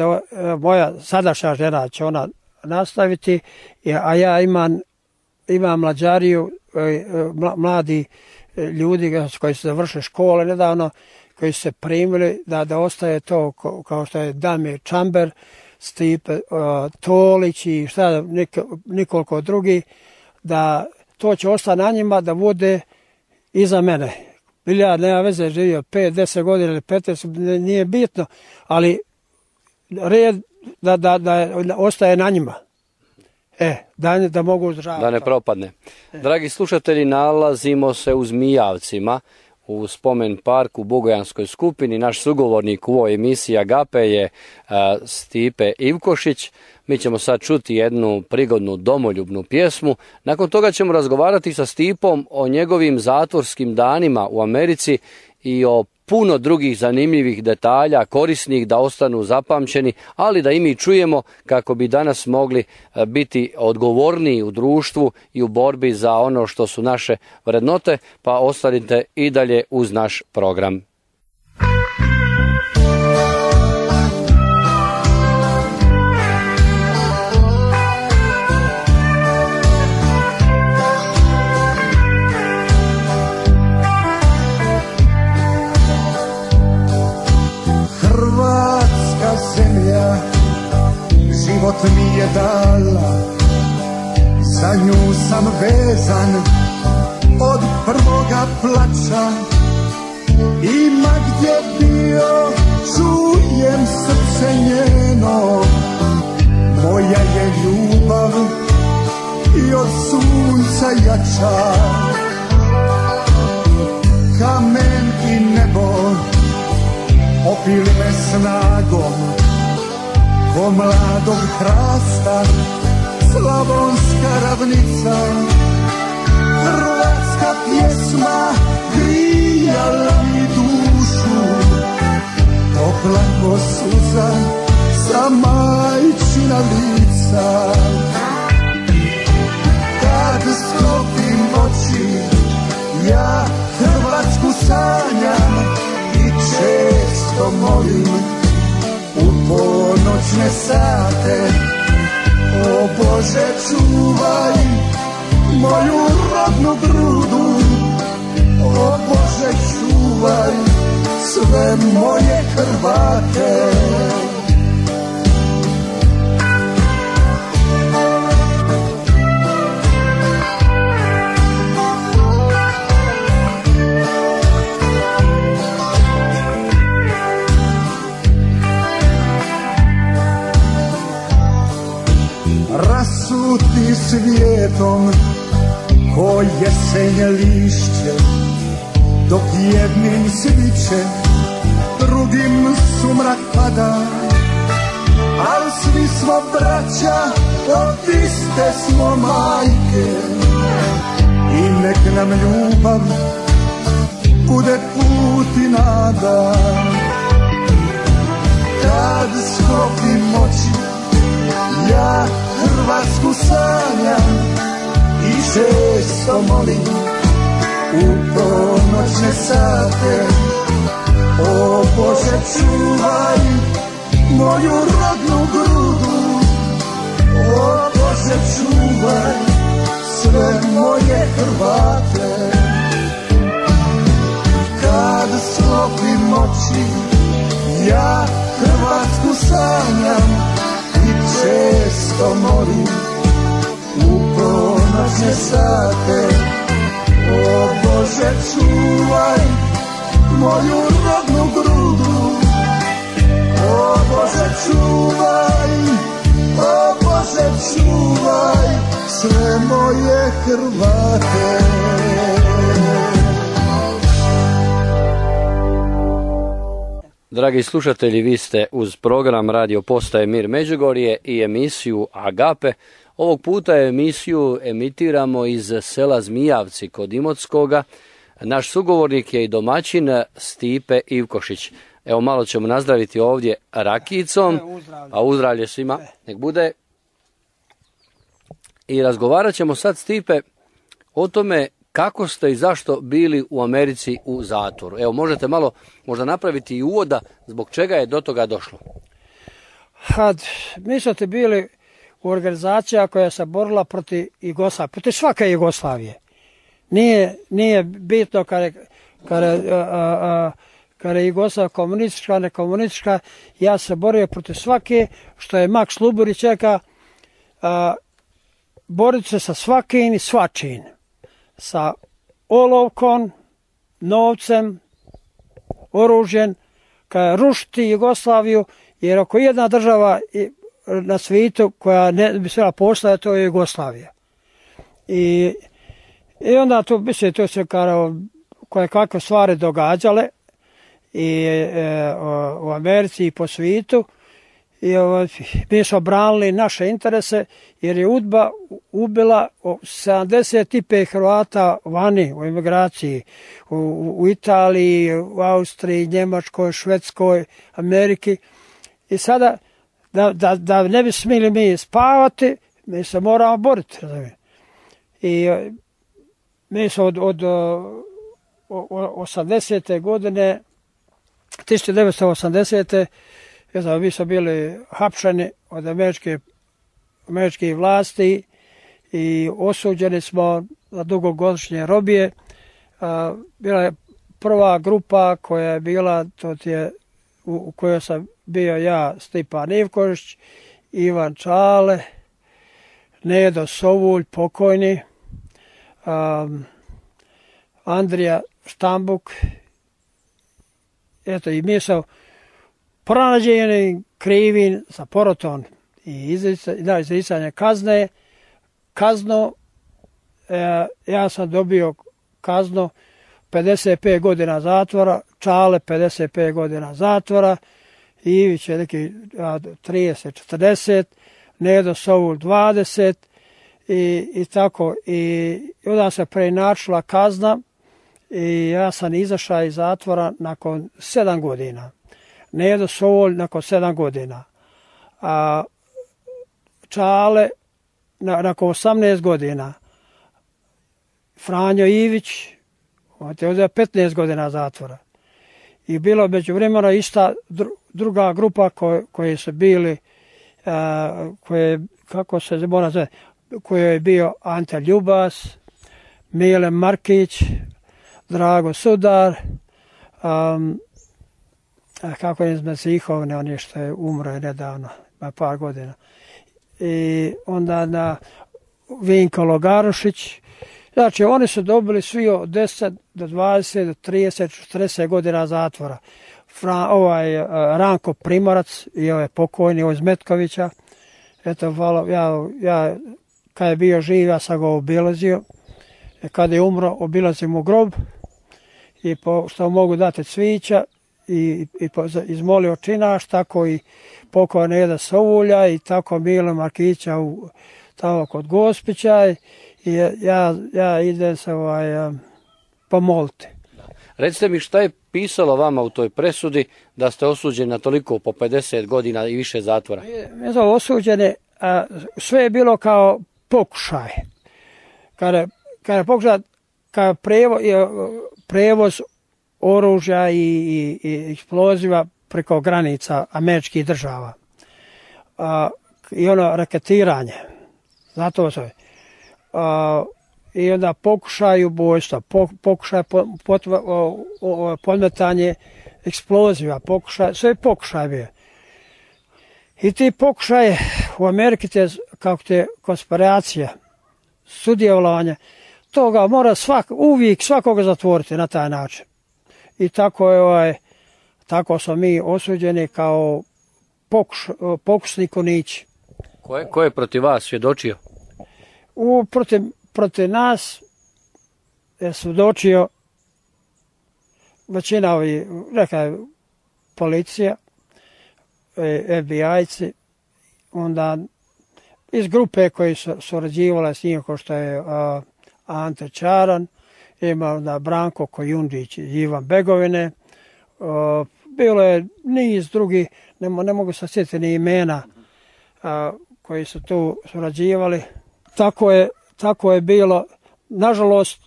moja sadašnja žena će ona nastaviti, a ja imam mlađariju, mladi ljudi koji su završili škole nedavno, koji su se primili da ostaje to kao što je Damir Čamber, Stipe Tolić i nekoliko drugi, da to će ostati na njima da bude iza mene. Ja nema veze, živio 5-10 godina ili 15, nije bitno, ali red da ostaje na njima. Da mogu uzdržavati. Da ne propadne. Dragi slušatelji, nalazimo se u Zmijavcima, u spomen parku u Bugojanskoj skupini. Naš sugovornik u ovoj emisiji Agape je Stipe Ivkošić. Mi ćemo sad čuti jednu prigodnu domoljubnu pjesmu. Nakon toga ćemo razgovarati sa Stipom o njegovim zatvorskim danima u Americi i o puno drugih zanimljivih detalja, korisnih da ostanu zapamćeni, ali da i mi čujemo kako bi danas mogli biti odgovorniji u društvu i u borbi za ono što su naše vrednote, pa ostanite i dalje uz naš program. Zemlja život mi je dala, za nju sam vezan od prvoga plaća, ima gdje bio, čujem srce njeno, moja je ljubav i od sunca jača. Kamen i nebo opili me snagom, ko mladog hrasta, slavonska ravnica. Hrvatska pjesma grijala mi dušu, topla ko suza sa majčina lica. Kad sklopim oči, ja Hrvatsku sanjam i često molim u ponoćne sate. O Bože, čuvaj moju rodnu grudu, o Bože, čuvaj sve moje Hrvate. Rasuti svijetom ko jesenje lišće, dok jednim sviće, drugim sumrak pada. Al svi smo braća, od iste smo majke, i nek nam ljubav bude put i nada. Kad sklopim oči, ja Hrvatsku sanjam i često molim u ponoćne sate. O Bože, čuvaj moju rodnu grudu, o Bože, čuvaj sve moje Hrvate. Kad sklopim oči, ja Hrvatsku sanjam i često molim u ponoćne sate. O Bože, čuvaj moju rodnu grudu, o Bože, čuvaj, o Bože, čuvaj sve moje Hrvate. Dragi slušatelji, vi ste uz program Radio Postaje Mir Međugorje i emisiju Agape. Ovog puta emisiju emitiramo iz sela Zmijavci kod Imotskoga. Naš sugovornik je i domaćin Stipe Ivkošić. Evo, malo ćemo nazdraviti ovdje rakijicom, a uzdravlje svima nek bude. I razgovarat ćemo sad, Stipe, o tome kako ste i zašto bili u Americi u zatvoru. Evo, možete malo možda napraviti i uvoda zbog čega je do toga došlo. Mi smo bili u organizacija koja se borila protiv Jugoslavije, protiv svake Jugoslavije. Nije bitno kada je Jugoslavija komunistička, nekomunistička. Ja se borio protiv svake, što je Maks Luburić rekao, boriti se sa svakim i svačim. Sa olovkom, novcem, oružjem, kada rušiti Jugoslaviju, jer ako jedna država na svijetu koja ne bi smjela postojati, to je Jugoslavija. I onda to se koje kakve stvari događale i u Americi i po svijetu. I mi smo branili naše interese, jer je UDBA ubila 75 Hrvata vani u emigraciji, u Italiji, u Austriji, Njemačkoj, Švedskoj, Ameriki. I sada, da ne bi smjeli mi spavati, mi se moramo boriti. I mi smo od 80. godine, 1980. mi smo bili hapšeni od američkih vlasti i osuđeni smo na dugogodišnje robije. Bila je prva grupa koja je bila, u kojoj sam bio ja, Stipan Ivkošić, Ivan Čale, Nedo Sovulj, pokojni, Andrija Štambuk. Eto, i mi smo pronađeni krivim za poroton i izricanje kaznu. Ja sam dobio kaznu 55 godina zatvora, Čale 55 godina zatvora, Ivić je neki 30-40, Nedo Soul 20 i tako. I onda se preinačila kazna i ja sam izašao iz zatvora nakon 7 godina. Nedo Soul nakon 7 godina. A Čale nakon 18 godina. Franjo Ivić, on je uzeo 15 godina zatvora. I bilo međuvremeno ista druga grupa koji su bili, kako se mora zove, koji je bio Ante Ljubas, Mile Markić, Drago Sudar, kako je iz Zihovne, on je što je umro nedavno, par godina. I onda Vinko Logarušić. Znači, oni su dobili svi od 10 do 20 do 30, 40 godina zatvora. Ranko Primorac i ovaj pokojni iz Metkovića. Eto, ja kad je bio živ, ja sam ga obilazio. Kad je umro, obilazim mu grob. I što mogu dati cvića i izmolio činaš, tako i pokojni Neda Soulja i tako Milo Markića tamo kod Gospića. I ja idem se pomoliti. Recite mi, šta je pisalo vama u toj presudi da ste osuđeni na toliko po 50 godina i više zatvora? Mi smo osuđeni, sve je bilo kao pokušaj. Kada je pokušaj, kao prevoz oružja i eksploziva preko granica američkih država. I ono raketiranje. Zato se i onda pokušaj ubojstva, pokušaj podmetanje eksploziva, sve pokušaj bio. I ti pokušaje u Ameriki, kako te konspiracija, sudjelovanje, toga mora uvijek svakoga zatvoriti na taj način. I tako smo mi osuđeni kao pokusni konići. Ko je protiv vas svjedočio? Protiv nas je svjedočio većina policija, FBI-ci, onda iz grupe koji su surađivale s njim, kao što je Ante Čaran, ima onda Branko Kojundić i Ivan Begovine, bilo je niz drugih, ne mogu se sjetiti ni imena koji su tu surađivali. Tako je bilo. Nažalost,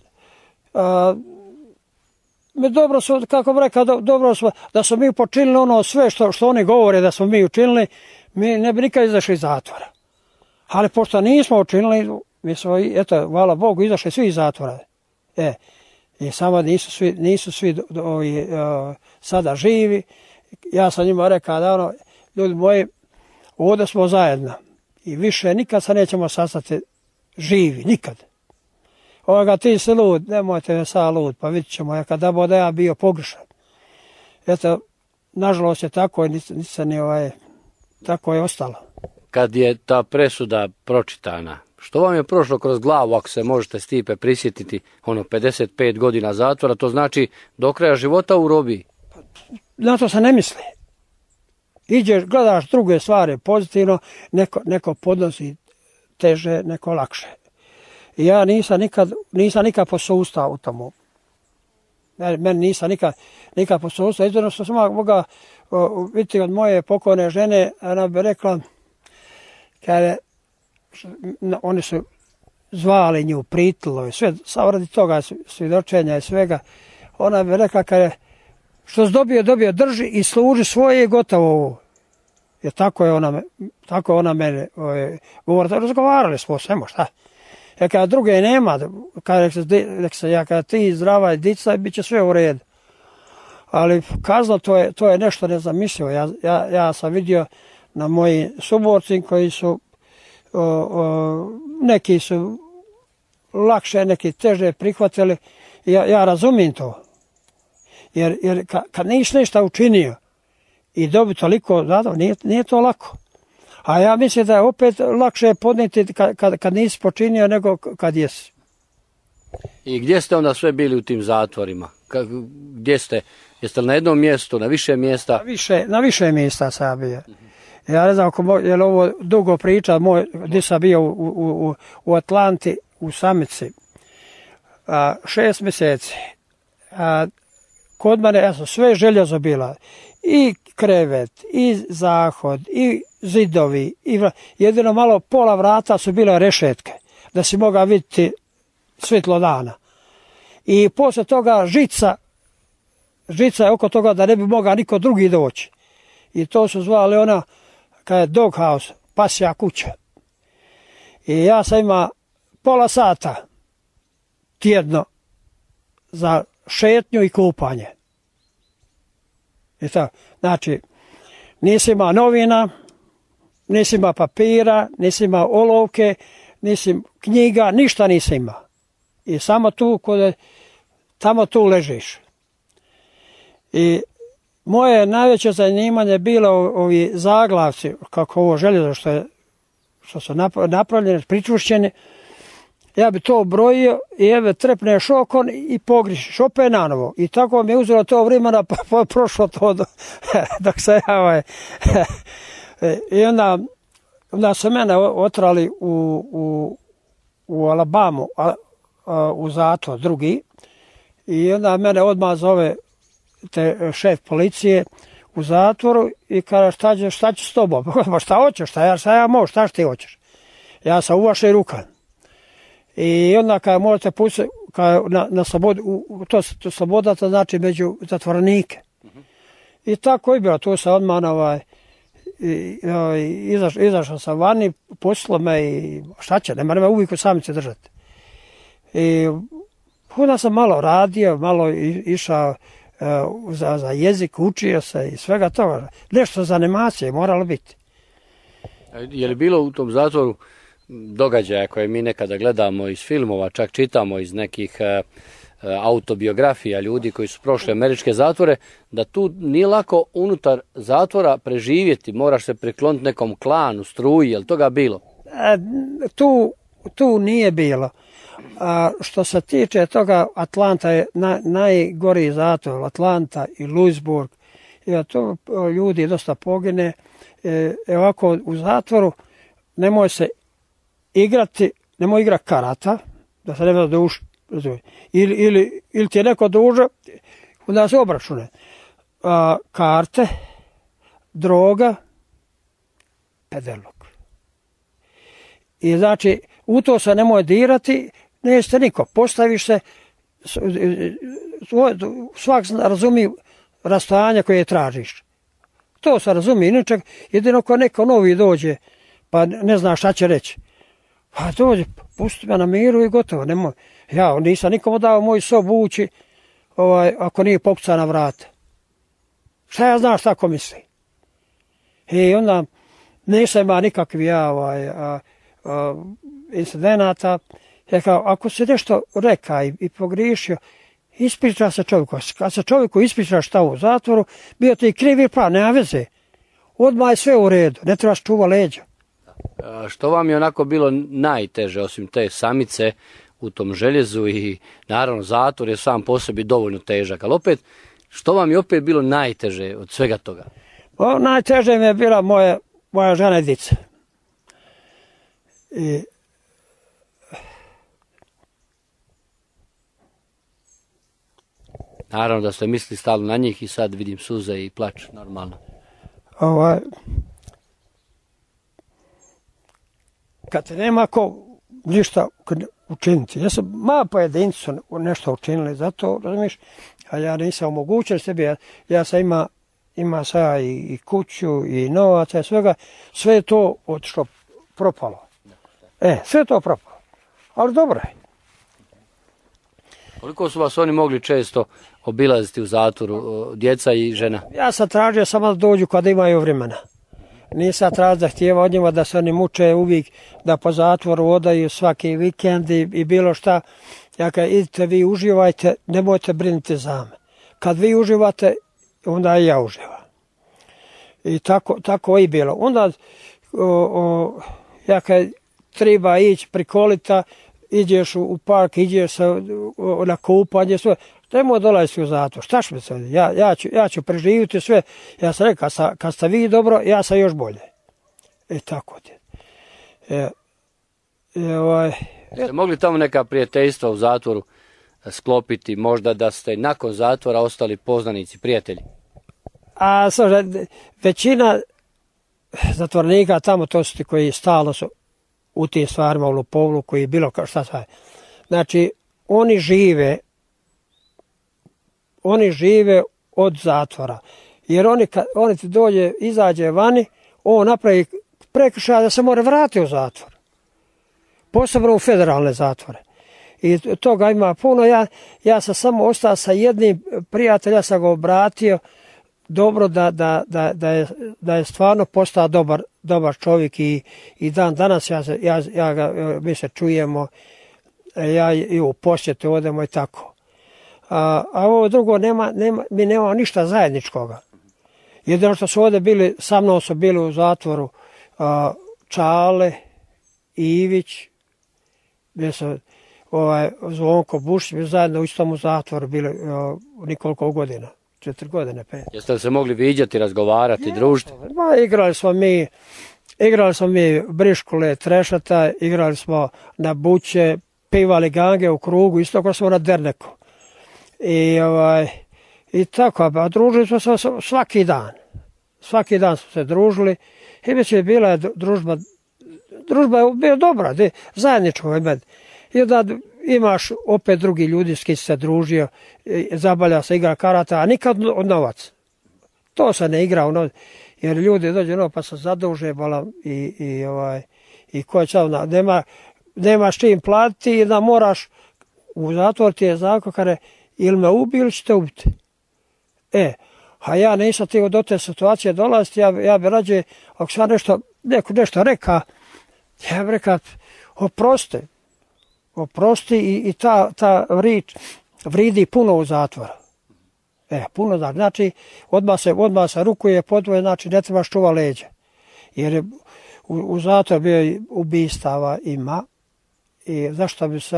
dobro su, kako bi rekao, dobro su, da smo mi počinili ono sve što oni govore da smo mi učinili, mi ne bi nikad izašli iz zatvora. Ali pošto nismo učinili, mi smo, eto, hvala Bogu, izašli svi iz zatvora. I samo nisu svi sada živi. Ja sam njima rekao da ljudi moji, ovdje smo zajedno i više nikad se nećemo sastati živi, nikad. Ti si lud, nemojte me sad lud, pa vidit ćemo, kada bude ja bio pogrešan. Eto, nažalost je tako, tako je ostalo. Kad je ta presuda pročitana, što vam je prošlo kroz glavu, ako se možete Stipe prisjetiti, 55 godina zatvora, to znači do kraja života u robiji? Na to se ne misli. Iđeš, gledaš druge stvari pozitivno, neko podnosi teže, neko lakše. I ja nisam nikad posustao u tomu. Meni nisam nikad posustao. Izvorno što sam mogao vidjeti od moje pokojne žene, ona bi rekla, kada oni su zvali nju Pritilo i sve, radi toga svjedočenja i svega, ona bi rekla, kada što si dobio, drži i služi svoje i gotovo ovo. Jer tako je ona mene govorila. Razgovarali smo o svemu, šta? Jer kada druge nema, kada ti zdrava i dica, bit će sve u redu. Ali kazna, to je nešto nezamislivo. Ja sam vidio na moji suborci koji su, neki su lakše, neki teže prihvatili. Ja razumijem to. Jer kad nisi nešto učinio i dobiti toliko zadovoljno, nije to lako. A ja mislim da je opet lakše podnijeti kad nisi počinio nego kad jesi. I gdje ste onda sve bili u tim zatvorima? Gdje ste? Jeste li na jednom mjestu, na više mjesta? Na više mjesta sam bio. Ja ne znam je li ovo dugo priča, gdje sam bio u Atlanti, u Samici. 6 mjeseci. Kod mene, ja sam sve željezo bila. I krevet, i zahod, i zidovi. Jedino malo pola vrata su bile rešetke, da si mogao vidjeti svjetlo dana. I poslije toga žica je oko toga da ne bi mogao niko drugi doći. I to su zvali ona, kada je dog house, pasja kuća. I ja sam imao pola sata tjedno za šetnju i kupanje. I tako. Znači, nisi imao novina, nisi imao papira, nisi imao olovke, nisi knjiga, ništa nisi imao. I samo tamo tu ležiš. I moje najveće zanimanje bilo ovi zaglavci, kako ovo željezo što su napravljene, pričušćene. Ja bi to brojio i evo trepneš okon i pogrišiš opet nanovo. I tako mi je uzelo to vremena, pa prošlo to dok se ja I onda su mene otrali u Alabamu, u zatvor drugi. I onda mene odmah zove šef policije u zatvoru i kaže šta ću s tobom? Pa šta hoćeš, šta ja mogu, šta ti hoćeš? Ja sam u vašoj rukama. I onda kada možete pustiti na slobodu, to sloboda to znači među zatvorenike. I tako je bilo, tu sam odmah izašao sam vani, pustilo me i šta će, nema me uvijek u Samici držati. I onda sam malo radio, malo išao za jezik, učio se i svega toga. Nešto za animacije moralo biti. Je li bilo u tom zatvoru događaja koje mi nekada gledamo iz filmova, čak čitamo iz nekih autobiografija ljudi koji su prošli američke zatvore, da tu nije lako unutar zatvora preživjeti, moraš se prikloniti nekom klanu, struji, je li toga bilo? Tu nije bilo. Što se tiče toga, Atlanta je najgoriji zatvor, Atlanta i Louisburg. I to ljudi dosta pogine. Ovako u zatvoru nemoj se igrati, nemoj igrati karata, da se ne duži. Ili ti je neko duže, onda se obračune. Karte, droga, pedalog. I znači, u to se nemoj dirati, nećete niko. Postaviš se, svak razumi rastojanje koje tražiš. To se razumi, inače, jedino ako neko novi dođe, pa ne zna šta će reći. Pa dođe, pusti me na miru i gotovo. Nemoj. Ja nisam nikomu dao moj sob ući ako nije pokuca na vrata. Šta ja znam šta ko misli? I onda nisam imao nikakvih incidenata. Ako se nešto reka i pogriješio, ispriča se čovjeku. Kad se čovjeku ispriča šta u zatvoru, bio ti krivi prav, nema veze. Odmah je sve u redu, ne trebaš čuva leđa. Što vam je onako bilo najteže, osim te samice u tom željezu i naravno zatvor je sam po sebi dovoljno težak, ali opet, što vam je opet bilo najteže od svega toga? Najteže mi je bila moja žena i dica. Naravno da ste mislili stalno na njih i sad vidim suze i plač, normalno. Kad te nema ko ništa učiniti. Ja sam pojedinci su nešto učinili za to, razumiješ, a ja nisam omogućio sebi, ja sam ima sada i kuću i novaca i svega, sve je to otišlo propalo. Sve je to propalo, ali dobro je. Koliko su vas oni mogli često obilaziti u zatvoru, djeca i žena? Ja sam tražio samo da dođu kada imaju vremena. nisam tražio zahtijeva od njima da se oni muče uvijek, da po zatvoru odaju svaki vikend i bilo šta. Ja kad idite vi uživajte, nemojte brinuti za me. Kad vi uživate, onda i ja uživam. I tako i bilo. Onda ja kad treba ići prikolita, iđeš u park, iđeš na kupanje, sve. Nemoj dolaziti u zatvor, šta će mi se? Ja ću preživjeti sve. Ja sam rekao, kad ste vi dobro, ja sam još bolje. Tako ti. Jeste mogli tamo neka prijateljstva u zatvoru sklopiti, možda da ste nakon zatvora ostali poznanici, prijatelji? A većina zatvornika tamo, to su ti koji stalno su u tim stvarima, u lopovluku i bilo kao šta sve. Znači, oni žive od zatvora. Jer oni ti izađe vani, on napravi prekršaj da se mora vratiti u zatvor. Posebno u federalne zatvore. I toga ima puno. Ja sam samo ostao sa jednim prijateljem, ja sam ga obratio dobro da je stvarno postao dobar čovjek i dan danas mi se čujemo, ja i u posjetu odemo i tako. A ovo drugo mi nemamo ništa zajedničkoga. Jedino što su ovdje bili, sa mnom su bili u zatvoru Čale, Ivić, gdje su Zvonko Bušić, mi zajedno u istom zatvoru bili nekoliko godina, 4 godine, 5. Jeste li se mogli viđati, razgovarati, družiti? Igrali smo mi briškule, trešata, igrali smo na buće, pivali gange u krugu, isto kao smo na derneku. I tako, a družili smo se svaki dan. Svaki dan smo se družili i već je bila družba je bila dobra, zajedničko. I onda imaš opet drugi ljudi s kim se družio, zabavlja se, igra karata, a nikad od novac. To se ne igra, jer ljudi dođu pa se zaduže i ko je čao, nemaš čim platiti i da moraš u zatvor ti je zakon kada ili me ubili ili ćete ubiti. A ja nisam htio do te situacije dolaziti, ja bi rađe, ako sam nešto reka, ja bi rekao, oprosti i ta rič vridi puno u zatvoru. Puno znači, odmah se rukuje podvoje, znači ne trebaš čuva leđa. Jer u zatvoru bio ubistava ima i zašto bi se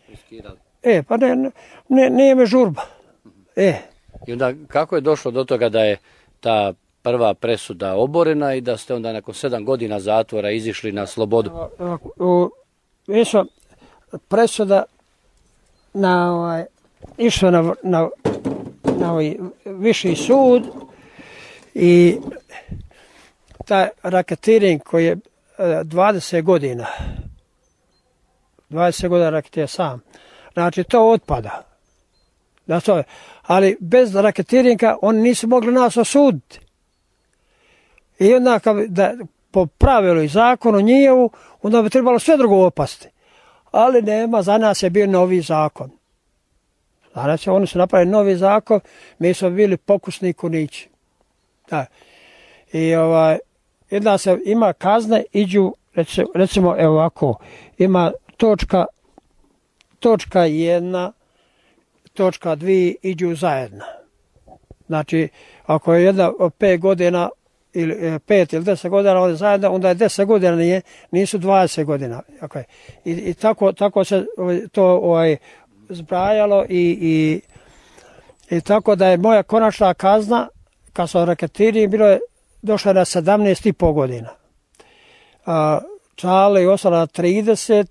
riskirali? Pa nije me žurba. I onda kako je došlo do toga da je ta prva presuda oborena i da ste onda nakon 7 godina zatvora izišli na slobodu? Presuda išla na viši sud i taj raketiring koji je 20 godina raketira sam. Znači to otpada. Ali bez raketiringa oni nisu mogli nas osuditi. I onda po pravilu i zakonu njihovu, onda bi trebalo sve drugo opasti. Ali nema, za nas je bio novi zakon. Znači oni su napravili novi zakon, mi smo bili pokusni kunići. I jedna se ima kazne, iđu, recimo evo ovako, ima točka 1, točka 2 iđu zajedno. Znači, ako je jedna 5 godina ili 5 ili 10 godina ovdje zajedno, onda je 10 godina, nisu 20 godina. I tako se to zbrajalo i tako da je moja konačna kazna, kad sam raketirao, došla na 17,5 godina. Čale je ostala na 30,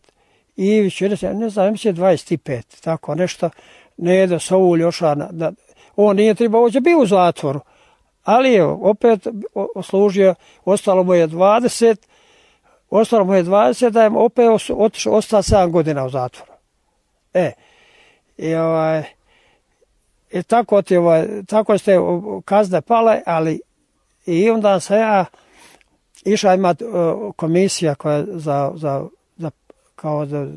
Ivić, ne znam, mislim 25, tako nešto. Nedo Soulj još, on nije trebao ući, bio u zatvoru, ali je opet oslužio, ostalo mu je 20, da je opet ostao 7 godina u zatvoru. I tako ste kazne pale, ali i onda se ja išla imati komisija koja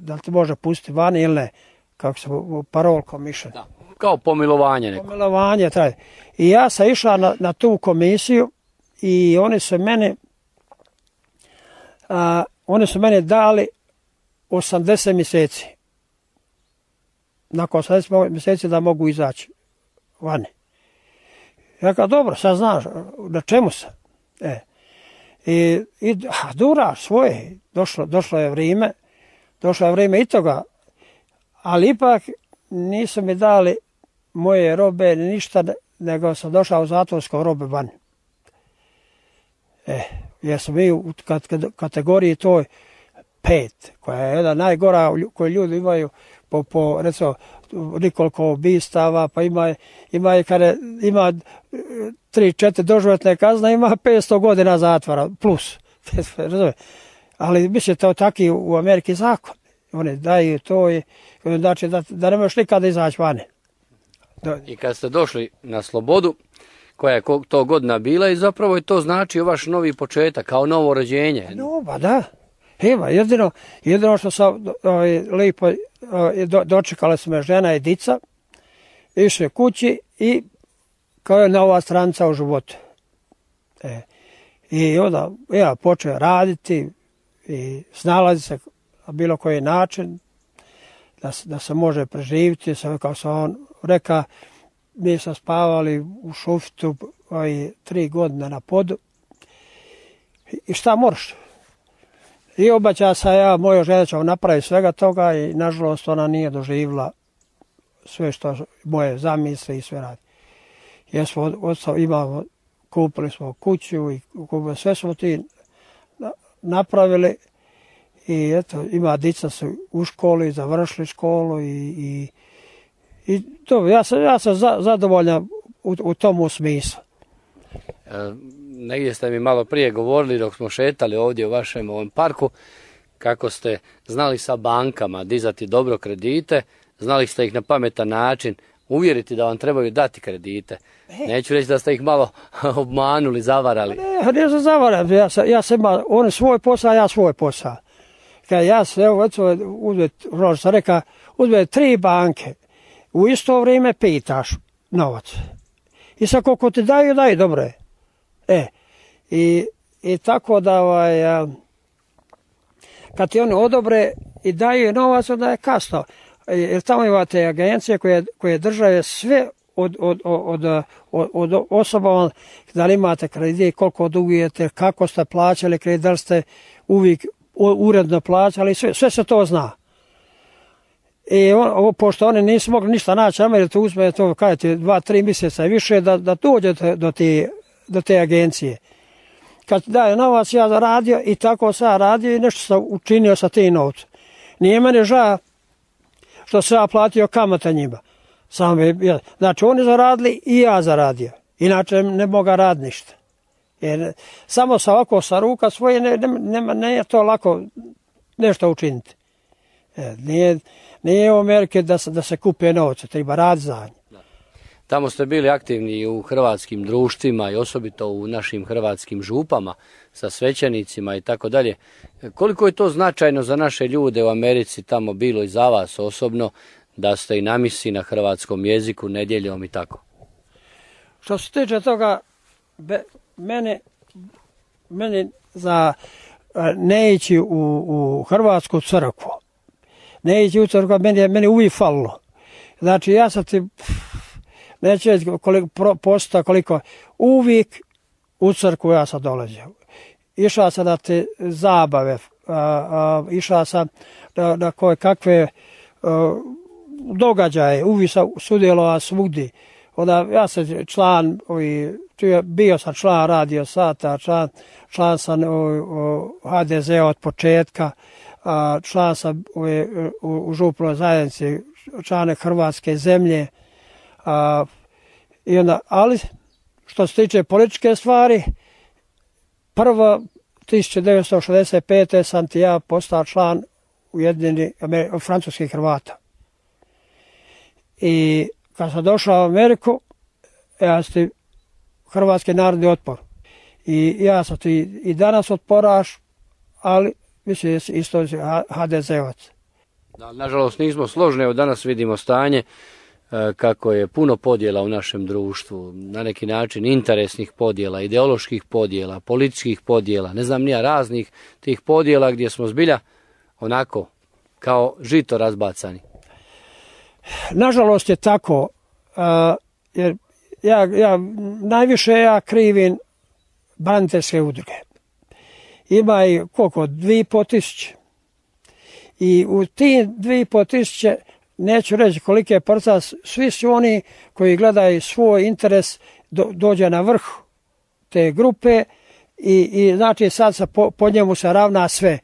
da ti može pustiti vani ili ne, kako se parole commission. Kao pomilovanje neko. Pomilovanje traje. I ja sam išla na tu komisiju i oni su mene dali 80 mjeseci. Nakon 80 mjeseci da mogu izaći vani. Ja kao, dobro, sad znaš, na čemu sam? Duraš svoje, došlo je vrijeme i toga, ali ipak nisu mi dali moje robe ništa, nego sam došao u zatvorsko robe vani. Jer smo mi u kategoriji toj 5, koja je jedna najgora koju ljudi imaju po recimo nekoliko ubistava, pa ima 3-4 doživotne kazne, ima 500 godina zatvora plus. Ali mislim to taki u Ameriki zakon. Oni daju to i znači da ne možeš nikada izaći vani. I kad ste došli na slobodu, koja je to godina bila i zapravo je to znači vaš novi početak, kao novo rođenje. No, da. Evo, jedino što sam lijepo dočekala su me žena i dica, išli kući i kao je nova stranica u životu. I onda ja počeo raditi i snalaziti se na bilo koji način da se može preživiti. Kao sam on rekao, mi smo spavali u šuftu 3 godine na podu. I šta moraš? I obećao sam ja, moja žena će napraviti svega toga i nažalost ona nije doživjela sve što moje zamisli i sve radi. Jer smo kupili smo kuću i sve smo ti napravili i eto, ima dica su u školi, završili školu i to, ja sam zadovoljan u tomu smislu. Negdje ste mi malo prije govorili dok smo šetali ovdje u vašem ovom parku kako ste znali sa bankama dizati dobro kredite, znali ste ih na pametan način uvjeriti da vam trebaju dati kredite. Neću reći da ste ih malo obmanuli, zavarali. Ne sam zavaran, ja sam imao on svoj posao, ja svoj posao. Kad ja se uzme 3 banke, u isto vrijeme pitaš novac. I sad koliko ti daju, dobro je. I tako da kad ti oni odobre i daju novac, onda je kasno. Jer tamo imate agencije koje države sve od osoba, da li imate kredit, koliko dugujete, kako ste plaćali kredit, da li ste uvijek uredno plaćali, sve se to zna. I pošto oni nisu mogli ništa naći, jer to uzme to, kažete, 2-3 mjeseca i više da dođete do te agencije. Kad daje novac, ja zaradio i tako sam radio i nešto sam učinio sa tim novcem. Nije mene žao što sam ja platio kamata njima. Znači oni zaradili i ja zaradio. Inače ne mogu raditi ništa. Jer samo sa ruka svoje nije to lako nešto učiniti. Nije u Amerike da se kupe novce, treba raditi za nje. Tamo ste bili aktivni u hrvatskim društvima i osobito u našim hrvatskim župama sa svećenicima i tako dalje. Koliko je to značajno za naše ljude u Americi tamo bilo i za vas osobno da ste i na misi na hrvatskom jeziku nedjeljom i tako? Što se tiče toga, meni za ne ići u hrvatsku crkvu, ne ići u crkvu, meni uvijek falilo. Znači ja sam ti... Neću reći koliko, uvijek u crkvu ja sam dolazio. Išao sam na te zabave, išao sam na koje kakve događaje, uvijek sam sudjelovao svugdje. Onda ja sam član, bio sam član Radio Sata, član sam HDZ od početka, član sam u župnoj zajednici, člane Hrvatske zemlje. Ali što se tiče političke stvari, prvo 1965. sam ti ja postao član Ujedinjenih francuskih Hrvata. I kad sam došao u Ameriku, ja sam ti Hrvatski narodni otpor. I ja sam ti i danas otporaš, ali mislim da si isto HDZ-ovac. Nažalost nismo složni, evo danas vidimo stanje kako je puno podjela u našem društvu, na neki način interesnih podjela, ideoloških podjela, političkih podjela, ne znam nija, raznih tih podjela gdje smo zbilja onako kao žito razbacani. Nažalost je tako, jer najviše krivim braniteljske udruge. Ima i koliko? 2.500. I u tim 2.500, neću reći koliki je procenat, svi su oni koji gledaju svoj interes dođe na vrh te grupe i znači sad se po njemu se ravna sve.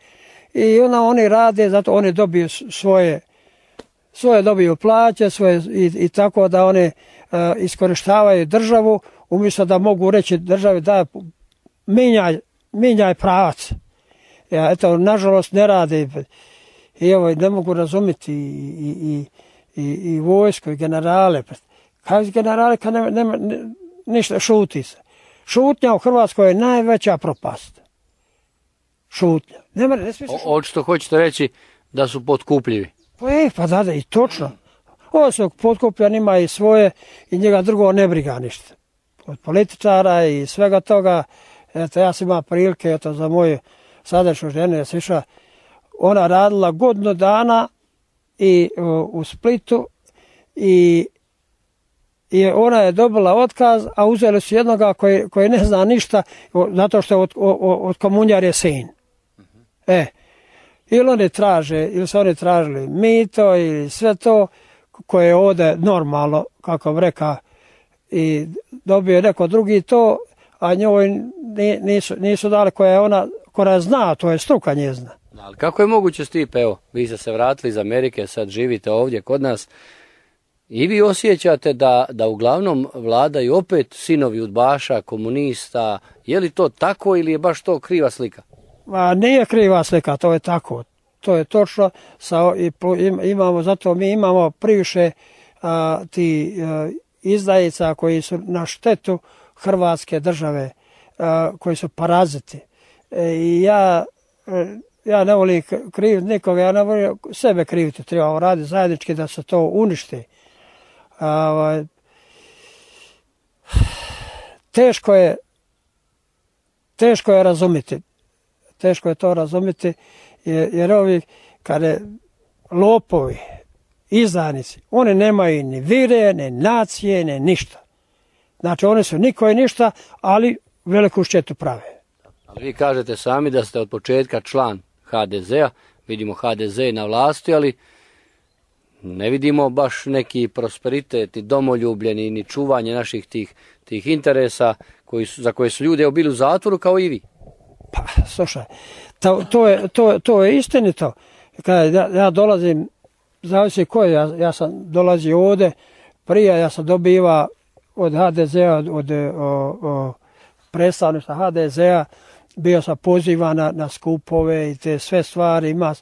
I onda oni rade, zato oni dobiju svoje dobiju plaće i tako da oni iskorištavaju državu, umjesto da mogu reći državi da minjaj pravac. Eto, nažalost ne rade. I evo, ne mogu razumjeti i vojsku i generale. Kaj generale kad nema ništa, šuti se. Šutnja u Hrvatskoj je najveća propast. Šutnja. Očito hoćete reći da su potkupljivi. Pa da, i točno. Ovo su potkupljen, ima i svoje i njega drugo ne briga ništa. Od političara i svega toga. Eto, ja sam imao prilike, eto, za moju sadašnju ženu je sišla. Ona radila godinu dana u Splitu i ona je dobila otkaz, a uzeli su jednoga koji ne zna ništa, zato što je od komunjarje sin. Ili su oni tražili mito ili sve to koje je ovdje normalno, kako bi rekao, i dobio neko drugi to, a njoj nisu dali koja zna, to je struka njezna. Ali kako je moguće, Stipe, evo, vi ste se vratili iz Amerike, sad živite ovdje kod nas i vi osjećate da uglavnom vladaju opet sinovi udbaša, komunista, je li to tako ili je baš to kriva slika? Nije kriva slika, to je tako, to je točno, zato mi imamo previše ti izdajica koji su na štetu Hrvatske države, koji su paraziti. I ja ne volim kriviti nikoga, ja ne volim sebe kriviti, treba raditi zajednički da se to uništi. Teško je razumjeti. Teško je to razumjeti, jer ovi kada lopovi, izdajnici, oni nemaju ni vire, ni nacije, ni ništa. Znači oni su niko i ništa, ali veliku štetu prave. Ali vi kažete sami da ste od početka član HDZ-a, vidimo HDZ na vlasti, ali ne vidimo baš neki prosperitet i domoljublje ni čuvanje naših tih interesa za koje su ljudi bili u zatvoru kao i vi. Pa, slušaj, to je istinito. Ja dolazim, zavisi koji, ja sam dolazio ovdje, prije ja sam dobiva od HDZ-a, od predstavništva HDZ-a, bio sam pozivan na skupove i te sve stvari ima.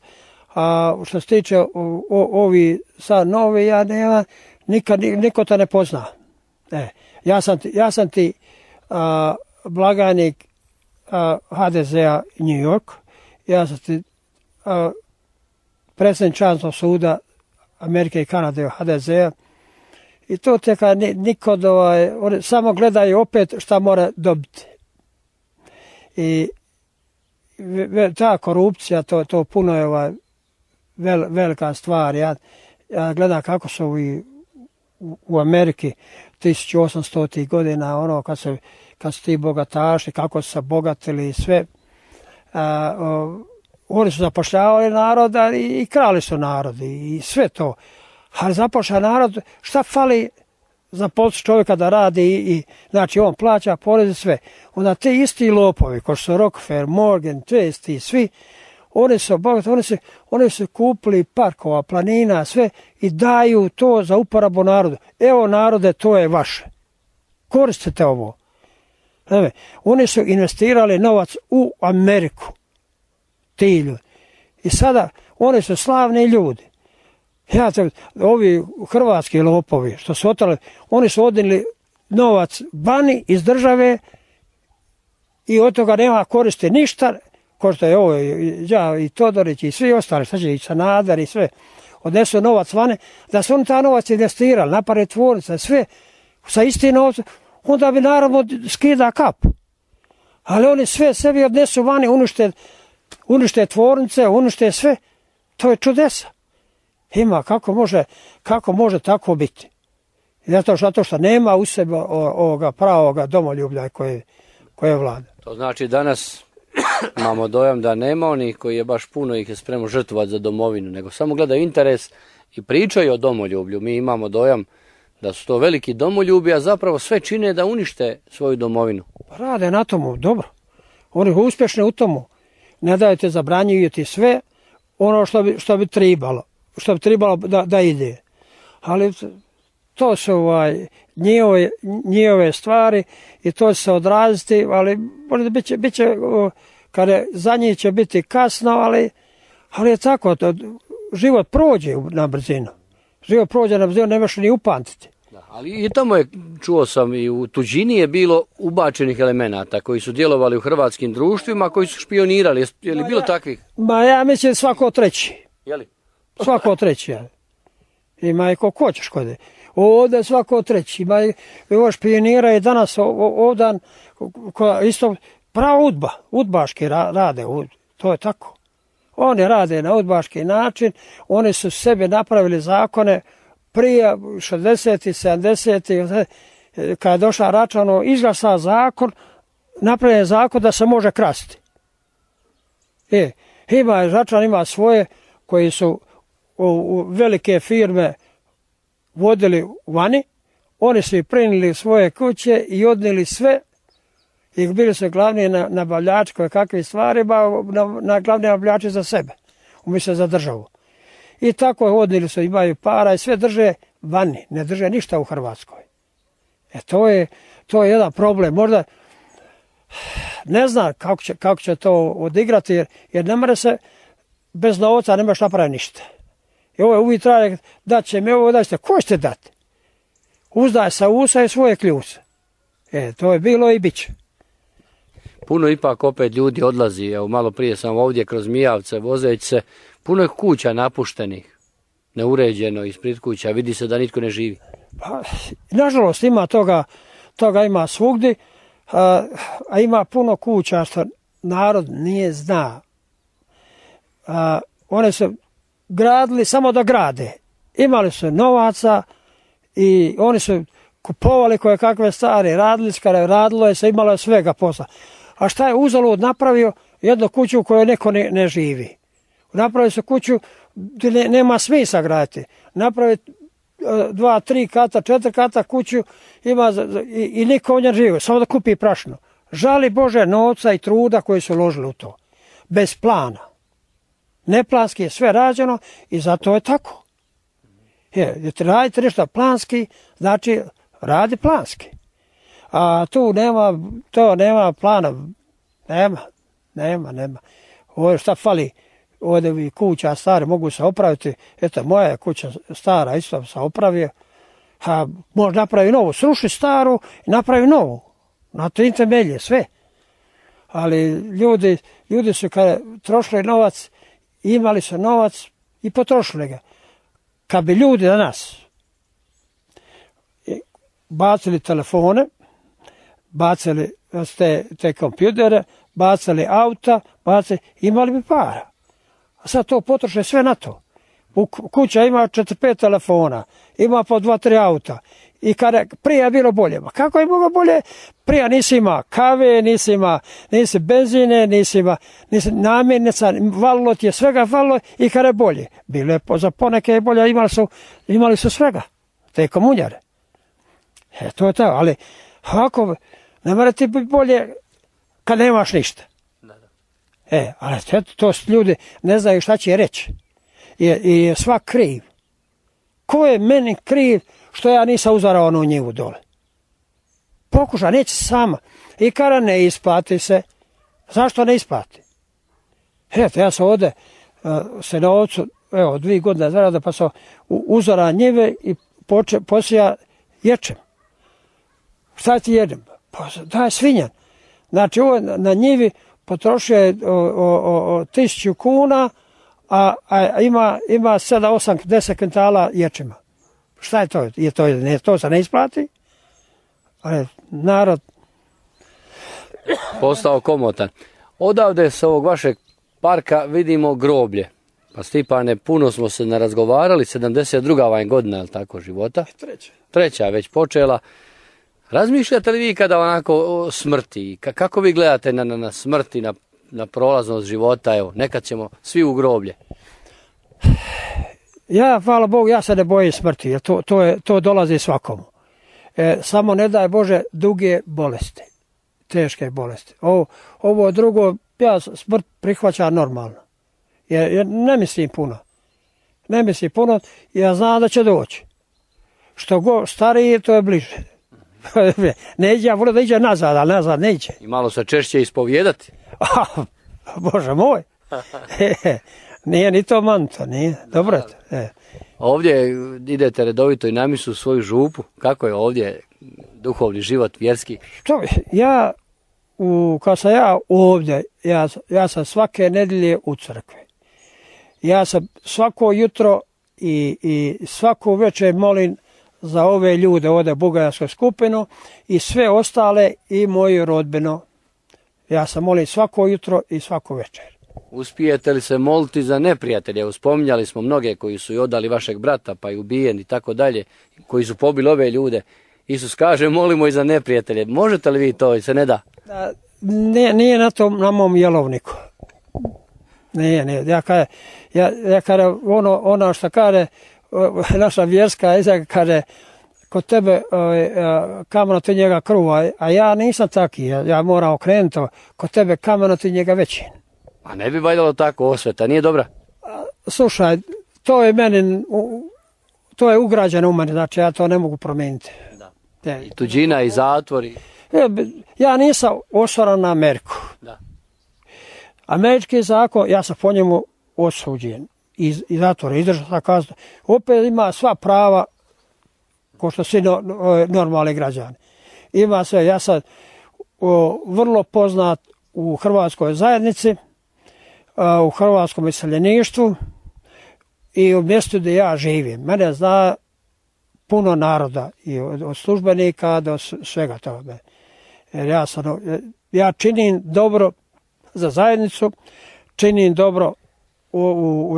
A što se tiče ovi sad novi, ja nema, niko te ne pozna. Ja sam ti blagajnik HDZ-a New York, ja sam ti predsjednik časnog suda Amerike i Kanade HDZ-a i to teka niko oni samo gledaju opet šta mora dobiti. I ta korupcija, to puno je velika stvar. Ja gledam kako su u Ameriki 1800. godina, kad su ti bogataši, kako su se bogatili i sve. Oni su zapošljavali naroda i krali su narodi i sve to. Ali zapošlja narod, šta fali za posao čovjeka da radi znači on plaća porez i sve. Onda te isti lopovi, ko su Rockefeller, Morgan, ti svi, oni su bogati, oni su kupili parkova, planina, sve i daju to za uporabu narodu. Evo narode, to je vaše. Koristite ovo. Oni su investirali novac u Ameriku. Ti ljudi. I sada oni su slavni ljudi. Ovi hrvatski lopovi što su otali, oni su odnijeli novac vani iz države i od toga nema koristi ništa, ko što je ovo ja i Todorić i svi ostali, šta će i Sanader i sve. odnesu novac vane, da su oni ta novac investirali, naprave tvornice, sve sa istim novcem, onda bi naravno skida kap. Ali oni sve sebi odnesu vani, unište tvornice, unište sve, to je čudesa. Ima, kako može tako biti? Zato što nema u sebi ovoga pravoga domoljublja koje vlada. To znači danas imamo dojam da nema onih koji je baš puno ih je spremno žrtvovati za domovinu, nego samo gledaju interes i pričaju o domoljublju. Mi imamo dojam da su to veliki domoljubi, a zapravo sve čine da unište svoju domovinu. Rade na tomu, dobro. Oni su uspješni u tomu. Ne dajete, zabranjujete sve ono što bi trebalo da ide. Ali to su njihove stvari i to će se odraziti, ali možda bit će kada za njih će biti kasno, ali je tako, život prođe na brzinu. Život prođe na brzinu, nemaš ni upamtiti. Da, ali i tamo je, čuo sam, i u tuđini je bilo ubačenih elemenata koji su djelovali u hrvatskim društvima, koji su špionirali. Je li bilo takvih? Ja mislim svako treći. Je li? Svako treći, ja. Ima i ko hoćeš kod je. Ovdje svako treći. Ima i špionira i danas ovdan isto prava udbaški rade. To je tako. Oni rade na udbaški način. Oni su sebi napravili zakone prije 60. 70. Kada je došla Račanov, izglasa zakon, napravljen zakon da se može krasti. Račan ima svoje koji su u velike firme vodili vani, oni su prenijeli svoje kuće i odnijeli sve i bili su glavni nabavljači koje kakve stvari, na glavni nabavljači za sebe, umjesto za državu. I tako odnijeli su, imaju para i sve drže vani, ne drže ništa u Hrvatskoj. To je jedan problem. Možda ne znam kako će to odigrati, jer ne mora se bez novca, ne možeš napraviti ništa. I ovo je uvijek traje, dat će mi ovo, daćete, ko ćete dati? Uzdaj sa usa i svoje kljuse. To je bilo i bit će. Puno ipak opet ljudi odlazi, evo malo prije sam ovdje kroz Mijavce vozeći se, puno je kuća napuštenih, neuređeno ispred kuća, vidi se da nitko ne živi. Nažalost ima toga ima svugdje, a ima puno kuća što narod nije zna. One su gradili samo da grade. Imali su novaca i oni su kupovali koje kakve stvari, radilo je se, imalo je svega posla. A šta je uzalud napravio? Jednu kuću u kojoj neko ne živi. Napravili su kuću gdje nema smisla graditi. Napraviti 2, 3 kata, 4 kata kuću ima i niko u njoj živi, samo da kupi prašno. Žali Bože novca i truda koji su uložili u to. Bez plana. Neplanski je sve rađeno i zato je tako. Radite nešto planski, znači radi planski. A tu nema plana. Nema. Ovo šta fali, ovdje kuća stare mogu se opraviti. Eto, moja je kuća stara, isto sam opravio. Može napravi novu, sruši staru i napravi novu. Na to temelje, sve. Ali ljudi su kada trošili novac, imali su novac i potrošili ga. Kad bi ljudi danas bacili telefone, bacili te kompjutere, bacili auta, imali bi para. A sad to potroše sve na to. Kuća ima 4-5 telefona, ima po 2-3 auta. I kada prije je bilo bolje. Ma kako je moglo bolje? Prije nisi ima kave, nisi benzine, nisi namirnica, valilo ti je svega valilo i kada je bolje. Bilo je za poneke bolje, imali su svega. Te komunjare. To je to, ali ako ne mora ti biti bolje kad nemaš ništa. Ali to ljudi ne znaju šta će reći. I je svak kriv. Ko je meni kriv što ja nisam uzarao onu njivu dole? Pokuša, neće sama. I kada ne isplati se, zašto ne isplati? Ja sam ovdje se na ovcu, 2 godine zarada, pa sam uzara njive i posija ječem. Šta ti jedem? Pa daj svinjan. Znači ovo na njivi potrošio je 1000 kuna, a ima 7, 8, 10 kvintala ječima. Šta je to? To se ne isplati, ali narod postao komotan. Odavde s ovog vašeg parka vidimo groblje. Pa Stipane, puno smo se narazgovarali, 72. vam je godina, je li tako, života? Treća je već počela. Razmišljate li vi kada onako o smrti? Kako vi gledate na smrti, na prolaznost života? Evo, nekad ćemo svi u groblje. Ja, hvala Bogu, ja se ne bojim smrti, jer to dolazi svakomu. Samo ne daj Bože duge bolesti, teške bolesti. Ovo drugo, ja smrt prihvaćam normalno. Jer ne mislim puno. Ne mislim puno, ja znam da će doći. Što go stariji, to je bliže. Ne iđe, ja volim da iđe nazad, ali nazad ne iđe. I malo se češće ispovijedati. Bože moj. Nije ni to manto, nije. Dobro je to. Ovdje idete redovito i na misu u svoju župu. Kako je ovdje duhovni život, vjerski? Što, kad sam ja ovdje, ja sam svake nedelje u crkvi. Ja sam svako jutro i svaku večer molim za ove ljude ovdje u Bugajarsku skupinu i sve ostale i moju rodbinu. Ja sam molim svako jutro i svaku večer. Uspijete li se moliti za neprijatelje? Spominjali smo mnoge koji su i odali vašeg brata pa i ubijeni i tako dalje, koji su pobili ove ljude. Isus kaže molimo i za neprijatelje. Možete li vi to i se ne da? Nije na mom jelovniku. Nije. Ja kaže ono što kaže naša vjerska izjava, kaže kod tebe kameno ti njega kruva, a ja nisam taki, ja moram okrenuti, kod tebe kameno ti njega veći. A ne bi valjalo tako osveta, nije dobra? Slušaj, to je meni, to je ugrađeno u meni, znači ja to ne mogu promijeniti. Da. I tuđina i zatvori. Ja nisam osoran na Ameriku. Da. Američki zakon, ja sam po njemu osuđen i zatvor, izdržao sam kaznu. Opet ima sva prava ko što svi normalni građani. Ima sve, ja sam vrlo poznat u hrvatskoj zajednici, u hrvatskom iseljeništvu i u mjestu gdje ja živim. Mene zna puno naroda, i od službenika do svega toga. Jer ja činim dobro za zajednicu, činim dobro u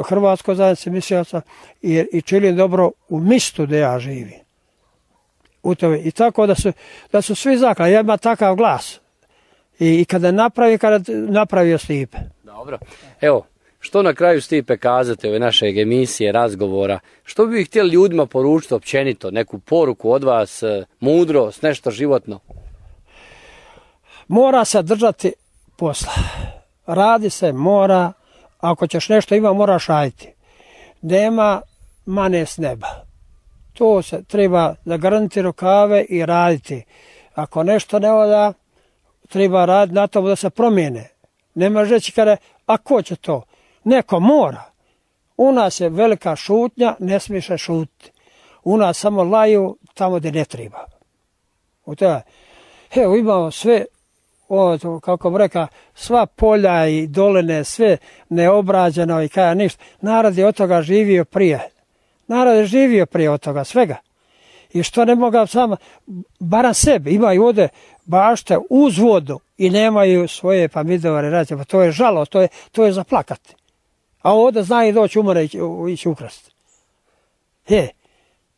hrvatskoj zajednici mislioca i činim dobro u mjestu gdje ja živim. I tako da su svi zaklali. Ja imam takav glas. I kada napravio Stipe. Dobro. Evo, što na kraju Stipe kazate ove naše emisije, razgovora? Što bi htjeli ljudima poručiti općenito? Neku poruku od vas, mudrost, nešto životno? Mora se držati posla. Radi se, mora. Ako ćeš nešto ima, moraš raditi. Nema mane s neba. To se treba zagrnuti rukave i raditi. Ako nešto ne oda, treba raditi na to da se promijene. Nema reći kada, a ko će to? Neko mora. U nas je velika šutnja, ne smiješ šutiti. U nas samo laju tamo gdje ne treba. Evo imamo sve, kako bi rekao, sva polja i doline, sve neobrađeno i kada ništa. Narod je od toga živio prije. Narod je živio prije od toga svega. I što ne mogu samo, barem sebi, imaju ovdje bašte uz vodu i nemaju svoje pomidore, radite, pa to je žalo, to je za plakati. A ovdje znaju doći umore i ići ukrasti.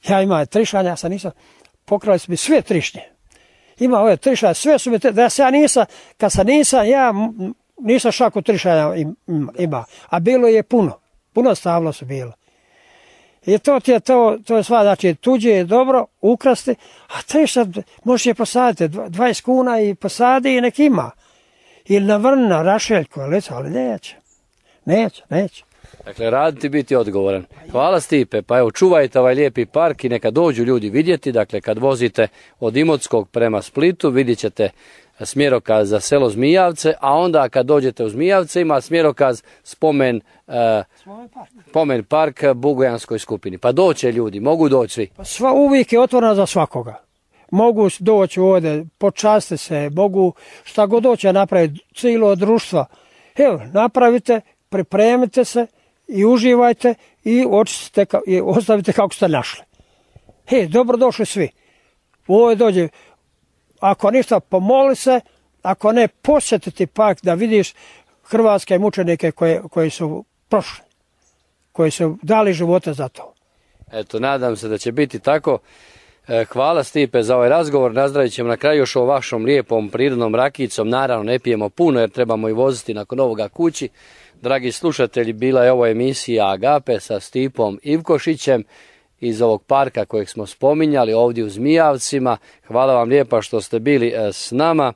Ja imam trišanja, ja nisam, pokrali su mi sve trišnje. Ima ove trišanja, sve su mi, da se ja nisam, kad sam nisam šaku trišanja ima, a bilo je puno stavlo su bilo. I to je sva, znači tuđe je dobro ukrasti, a triša možeš je posaditi, 20 kuna i posadi i nek ima. Ili na vrna, rašeljku, ali neće. Dakle, raditi, biti odgovoran. Hvala Stipe, pa evo čuvajte ovaj lijepi park i neka dođu ljudi vidjeti, dakle kad vozite od Imotskog prema Splitu vidjet ćete smjerokaz za selo Zmijavce, a onda kad dođete u Zmijavce ima smjerokaz spomen park Bugojanskoj skupini. Pa doće ljudi, mogu doći svi. Pa uvijek je otvoreno za svakoga. Mogu doći ovdje, počasti se, mogu šta god doće napraviti, cijelo društvo. Evo, napravite, pripremite se i uživajte i očistite i ostavite kako ste našli. Dobrodošli svi. Ovo dođe, ako ništa pomoli se, ako ne posjetiti park da vidiš hrvatske mučenike koji su prošli, koji su dali živote za to. Eto, nadam se da će biti tako. Hvala Stipe za ovaj razgovor. Nazdravit ćemo na kraju još o vašom lijepom prirodnom rakijicom. Naravno ne pijemo puno jer trebamo i voziti nakon ovoga kući. Dragi slušatelji, bila je ovo emisija Agape sa Stipom Ivkošićem iz ovog parka kojeg smo spominjali ovdje u Zmijavcima. Hvala vam lijepa što ste bili s nama.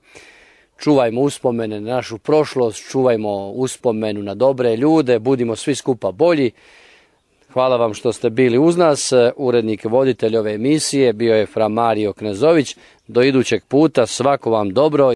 Čuvajmo uspomene na našu prošlost, čuvajmo uspomenu na dobre ljude, budimo svi skupa bolji. Hvala vam što ste bili uz nas. Urednik, voditelj ove emisije bio je fra Mario Knezović. Do idućeg puta, svako vam dobro.